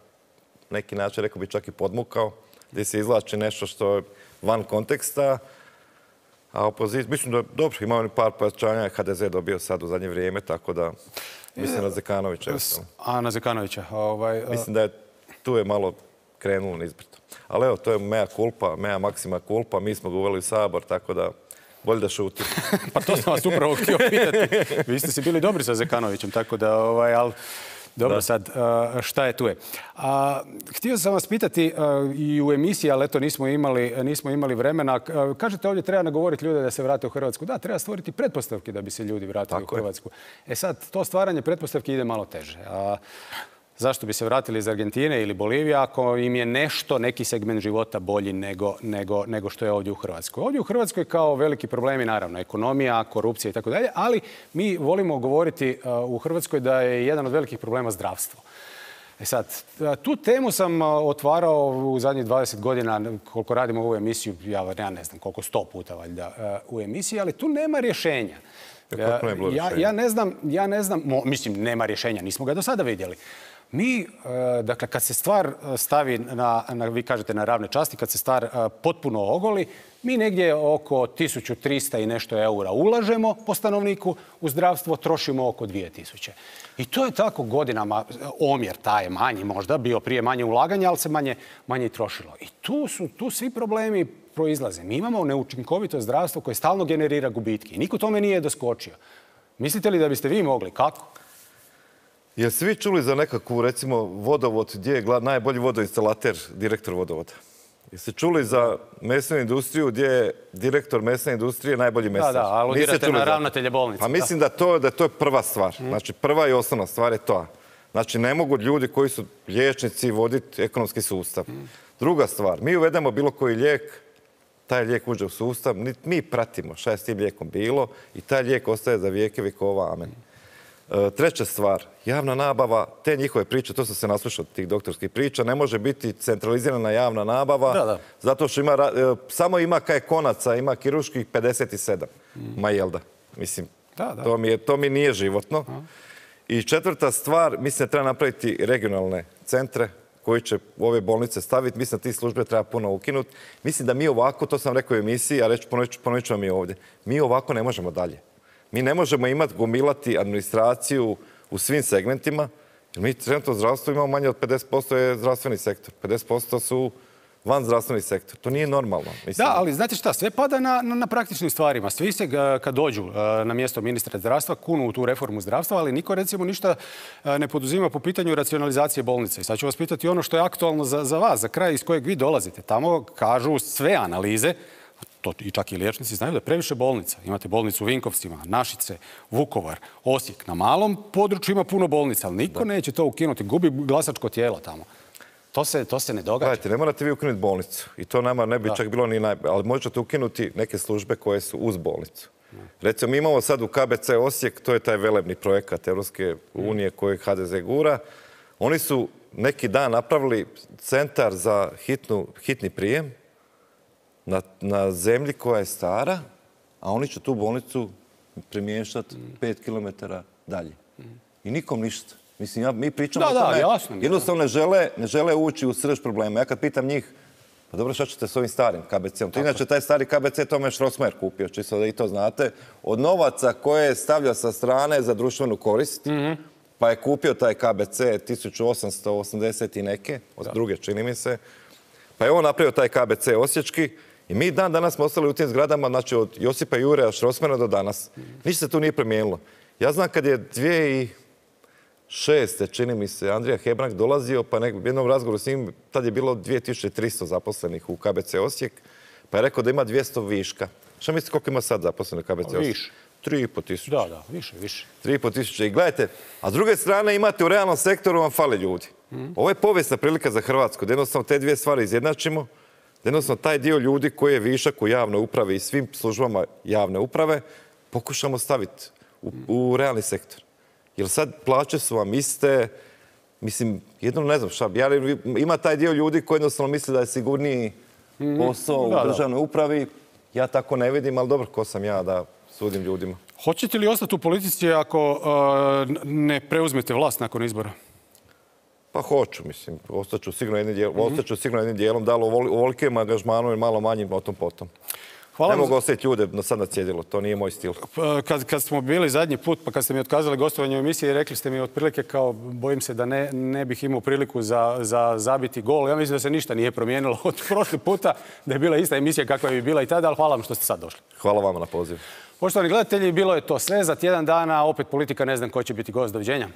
neki način, rekao bi čak i podmukao, gdje se izvlači nešto što je van konteksta. A opozicija, mislim da dobro, ima oni par pojačanja, ha de ze dobio sad u zadnje vrijeme, tako da mislim na Zekanovića. A, na Zekanovića. Ovaj, mislim da je tu je malo krenulo nizbrdo. Ali evo, to je mea culpa, mea maxima culpa, mi smo ga uveli u Sabor, tako da bolje da šutim. Pa to sam vas upravo htio pitati. Vi ste si bili dobri sa Zekanovićem, tako da, ovaj, ali dobro da. Sad, šta je tu je. A, htio sam vas pitati i u emisiji, ali eto nismo imali, nismo imali vremena. Kažete ovdje treba nagovoriti ljude da se vrate u Hrvatsku. Da, treba stvoriti pretpostavke da bi se ljudi vratili tako u Hrvatsku. Je. E sad, to stvaranje pretpostavki ide malo teže. A, zašto bi se vratili iz Argentine ili Bolivije ako im je nešto, neki segment života bolji nego, nego, nego što je ovdje u Hrvatskoj? Ovdje u Hrvatskoj kao veliki problemi, naravno, ekonomija, korupcija i tako dalje, ali mi volimo govoriti uh, u Hrvatskoj da je jedan od velikih problema zdravstvo. E sad, tu temu sam otvarao u zadnjih dvadeset godina, koliko radimo ovu emisiju, ja, ja ne znam koliko, sto puta valjda uh, u emisiji, ali tu nema rješenja. Ja, ja ne znam, ja ne znam, mo, mislim, nema rješenja, nismo ga do sada vidjeli. Mi, dakle, kad se stvar stavi na, na, vi kažete, na ravne časti, kad se stvar potpuno ogoli, mi negdje oko tisuću trista i nešto eura ulažemo po stanovniku, u zdravstvo trošimo oko dvije tisuće. I to je tako godinama, omjer taj je manji možda, bio prije manje ulaganja, ali se manje, manje i trošilo. I tu su, tu svi problemi proizlaze. Mi imamo neučinkovito zdravstvo koje stalno generira gubitke i niko tome nije doskočio. Mislite li da biste vi mogli? Kako? Jel svi čuli za nekakvu, recimo, vodovod, gdje je najbolji vodoinstalater, direktor vodovoda? Jeste čuli za mesnu industriju gdje je direktor mesne industrije najbolji mesar? Da, da, aludirate na ravnatelje bolnice. Pa mislim da to, da to je prva stvar. Znači, prva i osnovna stvar je to. Znači, ne mogu ljudi koji su liječnici voditi ekonomski sustav. Druga stvar, mi uvedemo bilo koji lijek, taj lijek uđe u sustav, mi pratimo šta je s tim lijekom bilo i taj lijek ostaje za vijeke vjekova, amen. Treća stvar, javna nabava, te njihove priče, to sam se naslušao tih doktorskih priča, ne može biti centralizirana javna nabava, da, da. Zato što ima, samo ima kaj konaca, ima kirurških pedeset sedam. Mm. Ma jel da? Mislim, da, da. To, mi je, to mi nije životno. A. I četvrta stvar, mislim da treba napraviti regionalne centre koji će u ove bolnice staviti. Mislim da ti službe treba puno ukinuti. Mislim da mi ovako, to sam rekao u emisiji, a reći ponovit ću vam i ovdje, mi ovako ne možemo dalje. Mi ne možemo imati, gomilati administraciju u svim segmentima, jer mi trenutno zdravstvo imamo manje od pedeset posto je zdravstveni sektor. pedeset posto su van zdravstveni sektor. To nije normalno. Mislim. Da, ali znate šta, sve pada na, na, na praktičnim stvarima. Svi se kad dođu na mjesto ministra zdravstva kunu u tu reformu zdravstva, ali niko recimo ništa ne poduzima po pitanju racionalizacije bolnice. I sad ću vas pitati ono što je aktualno za, za vas, za kraj iz kojeg vi dolazite. Tamo kažu sve analize, to i čak i liječnici znaju da je previše bolnica. Imate bolnicu u Vinkovcima, Našice, Vukovar, Osijek. Na malom području ima puno bolnica, ali niko da. neće to ukinuti. Gubi glasačko tijelo tamo. To se, to se ne događa. Gledajte, ne morate vi ukinuti bolnicu. I to nama ne bi da. čak bilo ni najbolje. Ali možete ukinuti neke službe koje su uz bolnicu. Da. Recimo, mi imamo sad u K B C Osijek, to je taj velebni projekat Europske unije kojeg H D Z gura. Oni su neki dan napravili centar za hitnu, hitni prijem Na, na zemlji koja je stara, a oni će tu bolnicu premještati pet kilometara dalje. I nikom ništa. Mislim, ja, mi pričamo da, o tome, da, jasno, jednostavno ne žele, ne žele ući u srž problema. Ja kad pitam njih, pa dobro, šta ćete s ovim starim K B C-om? To inače, taj stari K B C Tome Štrosmajer kupio, čisto da i to znate, od novaca koje stavlja sa strane za društvenu korist, mm-hmm. pa je kupio taj K B C tisuću osamsto osamdeset i neke, od da. druge, čini mi se, pa je on napravio taj K B C osječki. I mi dan danas smo ostali u tim zgradama, znači od Josipa Jure Štrosmajera do danas. Ništa se tu nije promijenilo. Ja znam kad je dvije tisuće šeste. čini mi se, Andrija Hebrang dolazio, pa nek, u jednom razgovoru s njim, tad je bilo dvije tisuće tristo zaposlenih u K B C Osijek, pa je rekao da ima dvjesto viška. Šta mislite koliko ima sad zaposlenih u K B C Osijek? Više. Tri i po tisuće. Da, da, više, više. Tri i po tisuće. I gledajte, a s druge strane imate u realnom sektoru vam fale ljudi. Mm. Ovo je povijesna prilika za Hrvatsku, da jednostavno te dvije stvari izjednačimo. Jednostavno, taj dio ljudi koji je višak u javnoj upravi i svim službama javne uprave pokušamo staviti u, u realni sektor. Jer sad plaće su vam iste, mislim, jedno ne znam šta, ja, ima taj dio ljudi koji jednostavno misle da je sigurniji posao da, u državnoj upravi. Ja tako ne vidim, ali dobro, ko sam ja da sudim ljudima. Hoćete li ostati u politici ako uh, ne preuzmete vlast nakon izbora? Pa hoću, mislim. Ostaću sigurno jednim dijelom, mm-hmm. ostaću sigurno jednim dijelom, da li u ovolikem angažmanu i malo manjim o tom potom. Hvala ne mogu za... ostaviti ljude na sad na cjedilu, to nije moj stil. Kad, kad smo bili zadnji put, pa kad ste mi otkazali gostovanje u emisiji, rekli ste mi otprilike kao, bojim se da ne, ne bih imao priliku za, za zabiti gol. Ja mislim da se ništa nije promijenilo od prošli puta, da je bila ista emisija kakva je bila i tada, ali hvala vam što ste sad došli. Hvala vama na pozivu. Poštovani gledatelji, bilo je to sve. Za tjedan dana opet politika, ne znam ko će biti gost. Doviđenja.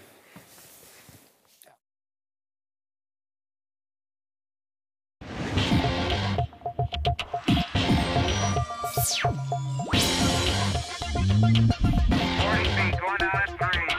forty feet, going out at three.